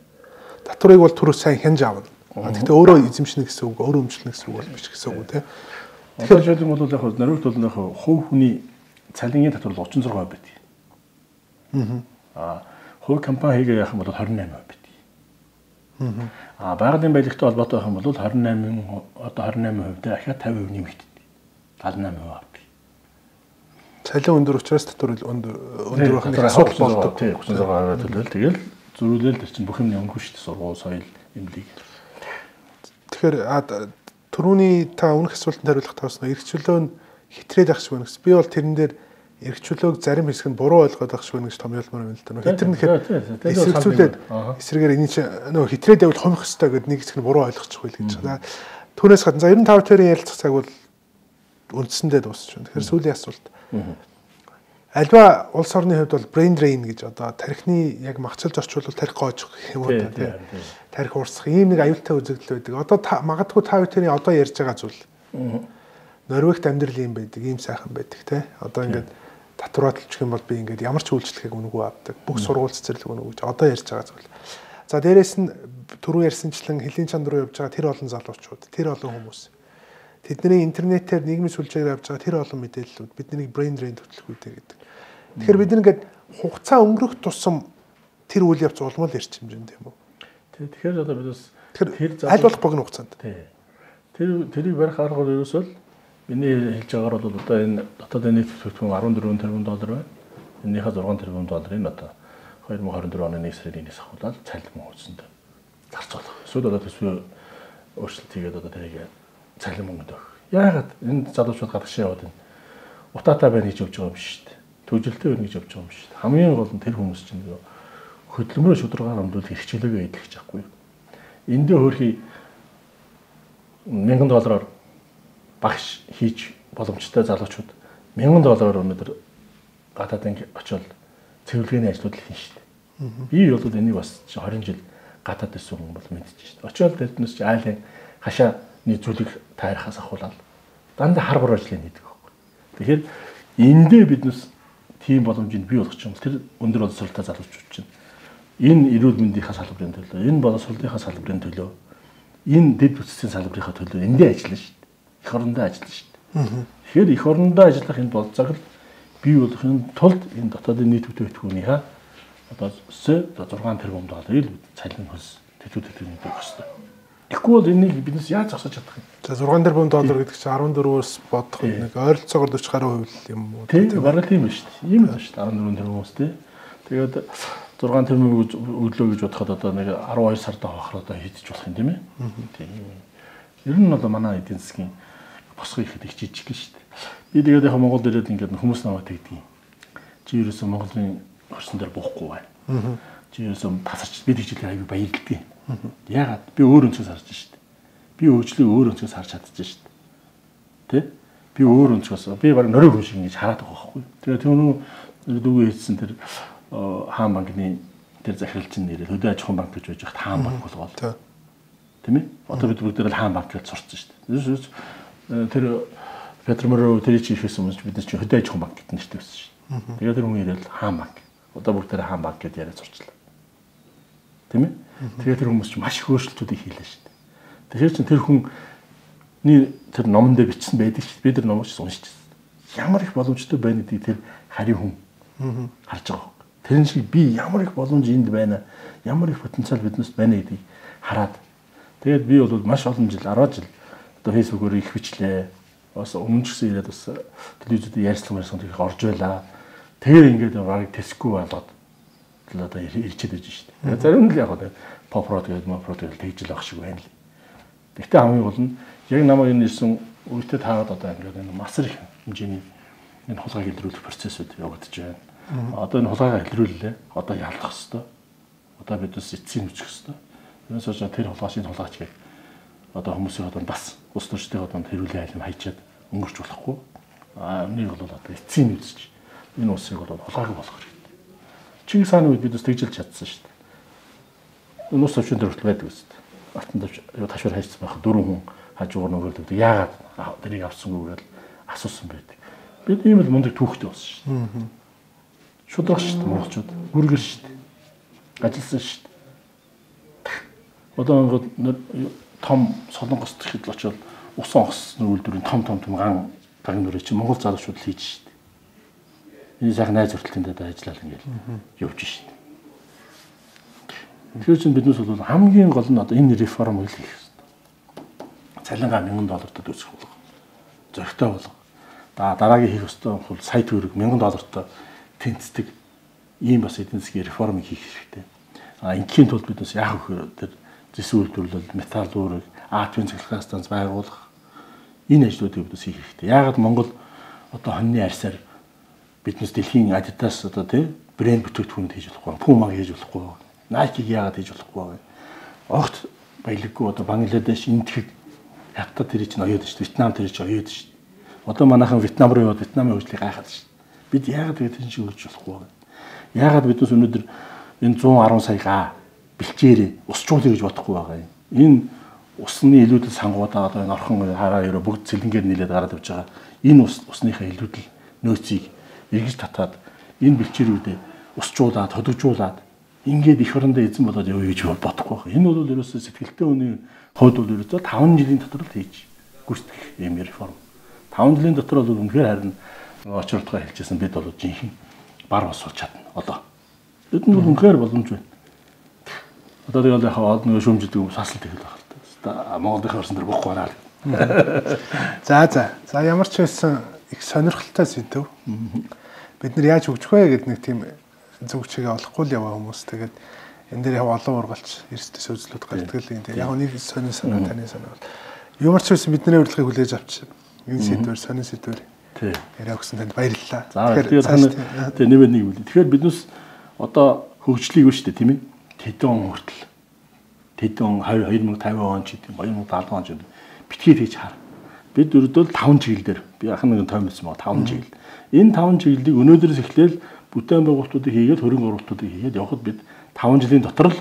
Татварыг бол түрүү сайн хянж аавна. Гэхдээ өөрөө эзэмшнэ гэсэн үг, өөрөө өмчлөнө гэсэн үг бол биш гэсэн үг тий. Тэгэхээр жишээлбэл бол яг Норвегт бол яг хувь хүний цалингийн татвар 36% байдаг. Хувь компани хийгээ яах юм бол 28% байдаг. Байгалийн баялагтай холбоотой байх юм бол 28% дээр ахиад 50% нэмэгддэг. 78% авдаг. Цалин өндөр учраас татвар өндөр байх нь асуудал болдог. Тий, 36% төлөөл тэгэл зөрүүлэл тэр чинь бүх юм өнгөө шүү дээ. Сургууль, соёл, эмнэлэг. Тэгэхээр түрүүний та өмнөх асуултанд хариулах тоосноо эрх чөлөө нь хитрээд ах шиг байна гэсэн. Би бол тэрэн дээр эрх чөлөөг зарим хэсэг нь буруу ойлгоод ах шиг байна гэж томьёолмоор байна л да. Хитэр нэхэд эсэргүүцүүлээд эсрэгээр энэ чинь нөгөө хитрээд явал хомих хөстэй гэдэг нэг хэсэг нь буруу ойлгочих байл гэж байна. Түүнээс гадна за 95 тэрийн ярилцах цаг бол үндсэндээ дуусч байна. Тэгэхээр сүүлийн асуулт. Альва улс орны хувьд бол brain drain гэж одоо тархины яг махчилж орчуулбал тархи гоож юм уу тий. Тархи уурсах ийм нэг аюултай үзэгдэл байдаг. Одоо магадгүй та бүхэн одоо ярьж байгаа зүйл. Норвегт амьдрал юм байдаг, ийм сайхан байдаг тий. Одоо ингээд татварлчих юм бол би ингээд ямар ч үйлчлэгийг үнэгүй авдаг. Бүх сургууль цэцэрлэг үнэгүй гэж одоо ярьж байгаа зүйл. За дээрэс нь түрүү ярьсанчлан хэлийн чанд руу явж байгаа тэр олон залуучууд, тэр олон хүмүүс. Тэдний интернетээр нийгмийн сүлжээгээр авж байгаа тэр олон мэдээллүүд бидний brain drain төлөвлөгөөтэй гэдэг. Тэгэхээр бид нэгээд хугацаа өнгөрөх тусам тэр үйл явц улмал ирчимжэн тийм үү? Тэгэхээр одоо бидээс тэр аль болох богино хугацаанд. Тэрийг барих арга бол ерөөсөө миний хэлж байгаагаар бол одоо энэ дотоодын нийт бүтээгдэхүүн 14 тэрбум доллар байна. Энийхээ 6 тэрбум долларыг одоо 2024 оны 1 сарын 1-ээс ахуулаад цалин хөөцөнд зарцуулах. Эсвэл одоо төсвийн өөрчлөлт хийгээд одоо тэрийг цалин мөнгөнд өгөх. Яагаад энэ залуучууд гадагшаа яваад энэ утаатай байна гэж явж байгаа юм биш үү? Төвжилтэй байна гэж явж байгаа юм биш үү? Хамгийн гол нь тэр хүмүүс чинь хөдөлмөрөө шударгаар өмдүүлэх эрх чөлөөгөө эдлэх чадахгүй. Эндээ хөрхий $1000 багш хийж боломжтой залуучууд $1000 өнөөдөр гадаадын очиод цэвэрлэгээний ажлууд л хийн шүү дээ. Би бол энийг бас 20 жил гадаад байсан хүн бол мэдчихэж шүү дээ. Очиод тэрнээс чи айлын хашаа зүйлийг таарахаас ахуулаад дандаа хар бор ажлыг хийдэг байхгүй. Тэгэхээр эндээ биднес тийм боломжийг бий болгох юм бол тэр өндөр боловсролтой залуучууд чинь энэ эрүүл мэндийнхаа салбарын төлөө, энэ боловсролынхаа салбарын төлөө, энэ дэд бүтцийн салбарынхаа төлөө эндээ ажиллана шүү дээ. Эх орондоо ажиллана шүү дээ. Тэгэхээр эх орондоо ажиллах энэ болцоог л бий болгохын тулд энэ дотоодын нийт бүтээгдэхүүнийхээ одоо 6 тэрбум долларыг цалин хөлс төлөвлөлтөнд өгөх хэрэгтэй. Тэгэхгүй бол энийг биднес яаж зогсож чадах юм? За 6 тэрбум доллар гэдэг чинь 14-өөс бодох нэг ойролцоогоор 40 гаруй хувь юм уу? Тийм бараг тийм ба шүү дээ. Ийм л ба шүү дээ 14 тэрбумс тий. Тэгээд 6 тэрбум өглөө гэж бодоход одоо нэг 12 сард авахаар одоо хийдэж болох юм тийм ээ. Тийм. Ер нь бол манай эдийн засгийн босгох ихэд их жижиг шүү дээ. Би тэгээд яг Монголд ирээд ингээд хүмүүс намайг тэгдэг юм. Чи ерөөсөө Монголын орсон дээр буухгүй байна. Чи ерөөсөө тасарч бид хичээлээ аягүй баярлалтай. Ягаад би өөр өнцгөөс харж шүү дээ. Би өөрчлөлөө өөр өнцгөөс харж чадчих шүү дээ. Тэ? Би өөр өнцгөөс би баг нөрөө хүн шиг ингэж хараад байгаа байхгүй. Тэгээд түүнүү дүүгээ хийсэн тэр хаан банкны тэр захиралчин нэрээ хөдөө аж ахуйн банк гэж байж хат хаан банк болгоол. Тийм ээ? Одоо бид бүгд л хаан банк гэж сурцсан шүү дээ. Тэр Петр Мөрөө тэр чи хийсэн юм бид чинь хөдөө аж ахуйн банк гэдэг нэртэй байсан шүү дээ. Тэгээд тэр хүн ирээл хаан банк. Одоо бүгд тэр хаан банк гэж яриад сурчлаа. Тийм ээ? Тэгээд тэр хүмүүс чинь маш их өөрчлөлтүүдийг хийлээ шүү дээ. Тэгэхээр чинь тэр хүний тэр номон дээр бичсэн байдаг шүү дээ. Би тэр номыг уншиж ямар их боломжтой байна гэдгийг тэр харийн хүн харж байгаа. Тэрэн шиг би ямар их боломж энд байна, ямар их потенциал биднээс байна гэдгийг хараад тэгээд би бол маш олон жил 10 жил одоо фэйсбүүкээр их бичлээ. Бас өмнө ч гэсэн ирээд бас телевизэд ярьцлага их орж байлаа. Тэгээ ингээд баг тэсгүй болоод одоо ирчээд байж шít. Зарим нь л яг попрод гэдэг мопрод гэдэг тэгжил ах шиг байна л. Гэхдээ хамгийн гол нь яг намайг энэ ирсэн үедээ таагаад одоо ингээд энэ масар их хэмжээний энэ хулгайг илрүүлэх процессыг явагдаж байна. Одоо энэ хулгайг илрүүллээ. Одоо ялах хэвээр. Одоо бид бас эцсийн үчих хэвээр. Тэрнээс хойш тэр хулгайчийн хулгайч гэдэг одоо хүмүүсийн одоо бас ус төрчдийн одоо хэрүүлээ айлм хайчаад өнгөрч болохгүй. Энийг бол одоо эцсийн үзэж энэ усыг бол хулгайг болгох хэрэгтэй. Чингис хааны үед бид бас тэгжилж чадсан шүү дээ. Энэ ус төвчөн төрөлт байдаг үст. Алтан ташуур хайцсан байх 4 хүн хажуугаар нөгөөдөг. Яагаад тэрийг авсангүй гэж асуусан байдаг. Бид ийм л мундаг түүхтэй болсон шүү дээ. Шудрах шүү дээ монголчууд. Гүргэр шүү дээ. Ажилласан шүү дээ. Одоо том солонгос төрхөд л очоод усан огсны үйлдвэрийн том ган нүрээ чи монгол залуучууд л хийж шүү дээ. Энэ сайхан найз хүртэлтэнд ажиллаад ингээл явж шүү дээ. Тэгэхээр чинь биднээс бол хамгийн гол нь одоо энэ реформ хийх хэрэгтэй. Цалингаа $1000 төсөх болох. Зөрөгтэй болох. Дараагийн хийх ёстой бол сая төгрөг $1000 тэнцдэг ийм бас эдийн засгийн реформыг хийх хэрэгтэй. Ингийн тулд биднээс яах вэ гэхээр зэс үйлдвэрлэл, металлург, атомын цахилгаан станц байгуулах энэ ажлуудыг биднээс хийх хэрэгтэй. Яагаад Монгол одоо хоньны арьсаар биднээс дэлхийн Adidas одоо тий брэнд бүтээгдэхүүнүүд хийж болохгүй, Puma хийж болохгүй, Nike-г яагаад хийж болохгүй. Огт баялаггүй одоо Бангладеш энтхэг хятад тэр чинь оёод шүү дээ. Вьетнам тэр чинь оёод шүү дээ. Одоо манайхан Вьетнам руу яваад Вьетнамын хөгжлийг гайхаад шүү дээ. Бид яагаад тэгээд энэ шиг хөгжиж болохгүй. Яагаад биднээс өнөөдөр энэ 110 сая га бэлчээрээ усчуулъя гэж бодохгүй байгаа юм. Энэ усны илүүдэл сангуудаа одоо энэ орхон хараа ерөө бүгд цэлэнгээр нийлээд гараад явж байгаа. Энэ усныхаа илүүдэл нөөцийг эргэж татаад энэ бэлчээрүүдээ усчуулаад, хөдөгжүүлээд ингээд их орондоо эзэн болоод явъя гэж бодохгүй байгаа. Энэ бол ерөөсөө сэтгэлтэй хүний хувьд бол ерөөсөө 5 жилийн дотор л хийж гүйцэтгэх юм реформ. 5 жилийн дотор бол үнэхээр харин очиртгоо хэлчихсэн бид бол жинхэнэ бар бос болж чадна. Одоо бидэнд бол үнэхээр боломж байна. Одоо тэгэл яг олон шүүмжлдэг сасал тэгэл байх л та. Монголын орсон дээр бохгүй байна л. За ямар ч байсан их сонирхолтой сэдв. Бид нар яаж хөгжих вэ гэдэг нэг тийм зөв чигээ олохгүй л яваа хүмүүс. Тэгээд энэ дээр яг олон ургалч эрсдэл сөзлүүд гардаг л юм. Яг нэг сонин санаа таны санаа бол ямар ч байсан бидний урилгыг хүлээж авч энэ сэдвэр сонин сэдвэр яриа өгсөн танд баярлалаа. Тэгэхээр нэмээд нэг үйл. Тэгэхээр биднээс одоо хөгжлийг үү шүү дээ тийм ээ. Тэдэн он хүртэл тэдэн 2050 он ч гэдэг 2070 он ч гэдэг битгий хийж хар. Бид өрдөл 5 чиглэлээр би ахын нэг тоймсон ба 5 чиглэл. Энэ 5 чиглэлийг өнөөдрөөс эхлээл бүтээн байгуулалтуудыг хийгээд хөрөнгө оруулалтуудыг хийгээд явхад бид 5 жилийн дотор л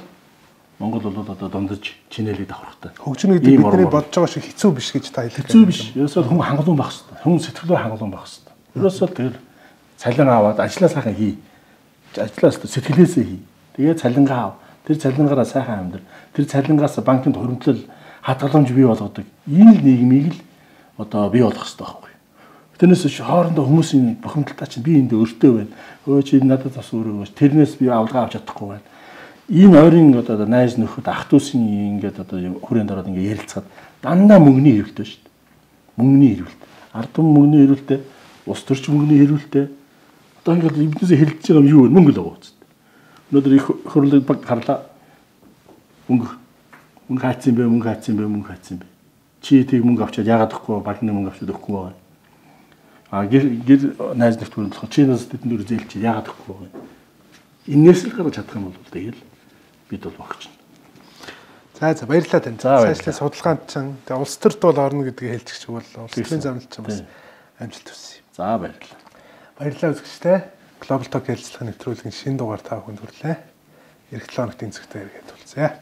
Монгол бол одоо дундаж чинэлийг давхрахтай. Хөгжинэ гэдэг бидний бодож байгаа шиг хэцүү биш гэж та хэлэх. Хэцүү биш. Ерөөсөө хүн хангалуун байх хэрэгтэй. Хүн сэтгэлээр хангалуун байх хэрэгтэй. Ерөөсөө тэр цалин аваад ажлаа сайхан хий. Ажлаа сэтгэлээсээ хий. Тэгээд цалингаа ав. Тэр цалингаараа сайхан амьдр. Тэр цалингаас банкнд хуримтлал хадгаламж бий болгодог. Энэ л нийгмийг л одоо бий болгох хэрэгтэй байхгүй. Тэрнээс хоорондоо хүмүүсийн бохимдолтой чинь би энд өртөө байна. Өө чи надад бас өөрөө тэрнээс би авалгаа авч чадахгүй байна. Энэ ойрын одоо найз нөхөд ах дүүсийн ингээд одоо хүрээнд ороод ингээд ярилцахад дандаа мөнгөний хэрэглээ шүү дээ. Мөнгөний хэрэглээ. Ард түмэн мөнгөний хэрэглээ, ус төрч мөнгөний хэрэглээ. Одоо ингээд эвднээс хэлж байгаа юм юу вэ? Мөнгө л байгаа үст. Өнөөдөр их хөрлөг баг харлаа. Мөнгө хайцсан бэ? Чи тийг мөнгө авчаад яагаад өгөхгүй багны мөнгө авчаад өгөхгүй байгаа. Гэр найз нөхдөд болох чи нас тэдэнд дөр зээлч яагаад өгөхгүй байгаа. Инээс л гарч чадах юм бол тэгэл бид бол багч. За баярлалаа тань. Цаашлаа судалгаанд чинь тэгээ улс төрд бол орно гэдгийг хэлчих чиг бол улс төрийн замналт чинь бас амжилт хүсье. За баярлалаа. Баярлалаа үзэгчтэй. Global Talk ярилцлагын нэвтрүүлгийн шинэ дугаар та бүхэнд хүрлээ. Эх 7 хоногт энэ зэгтээ иргэд болцъё.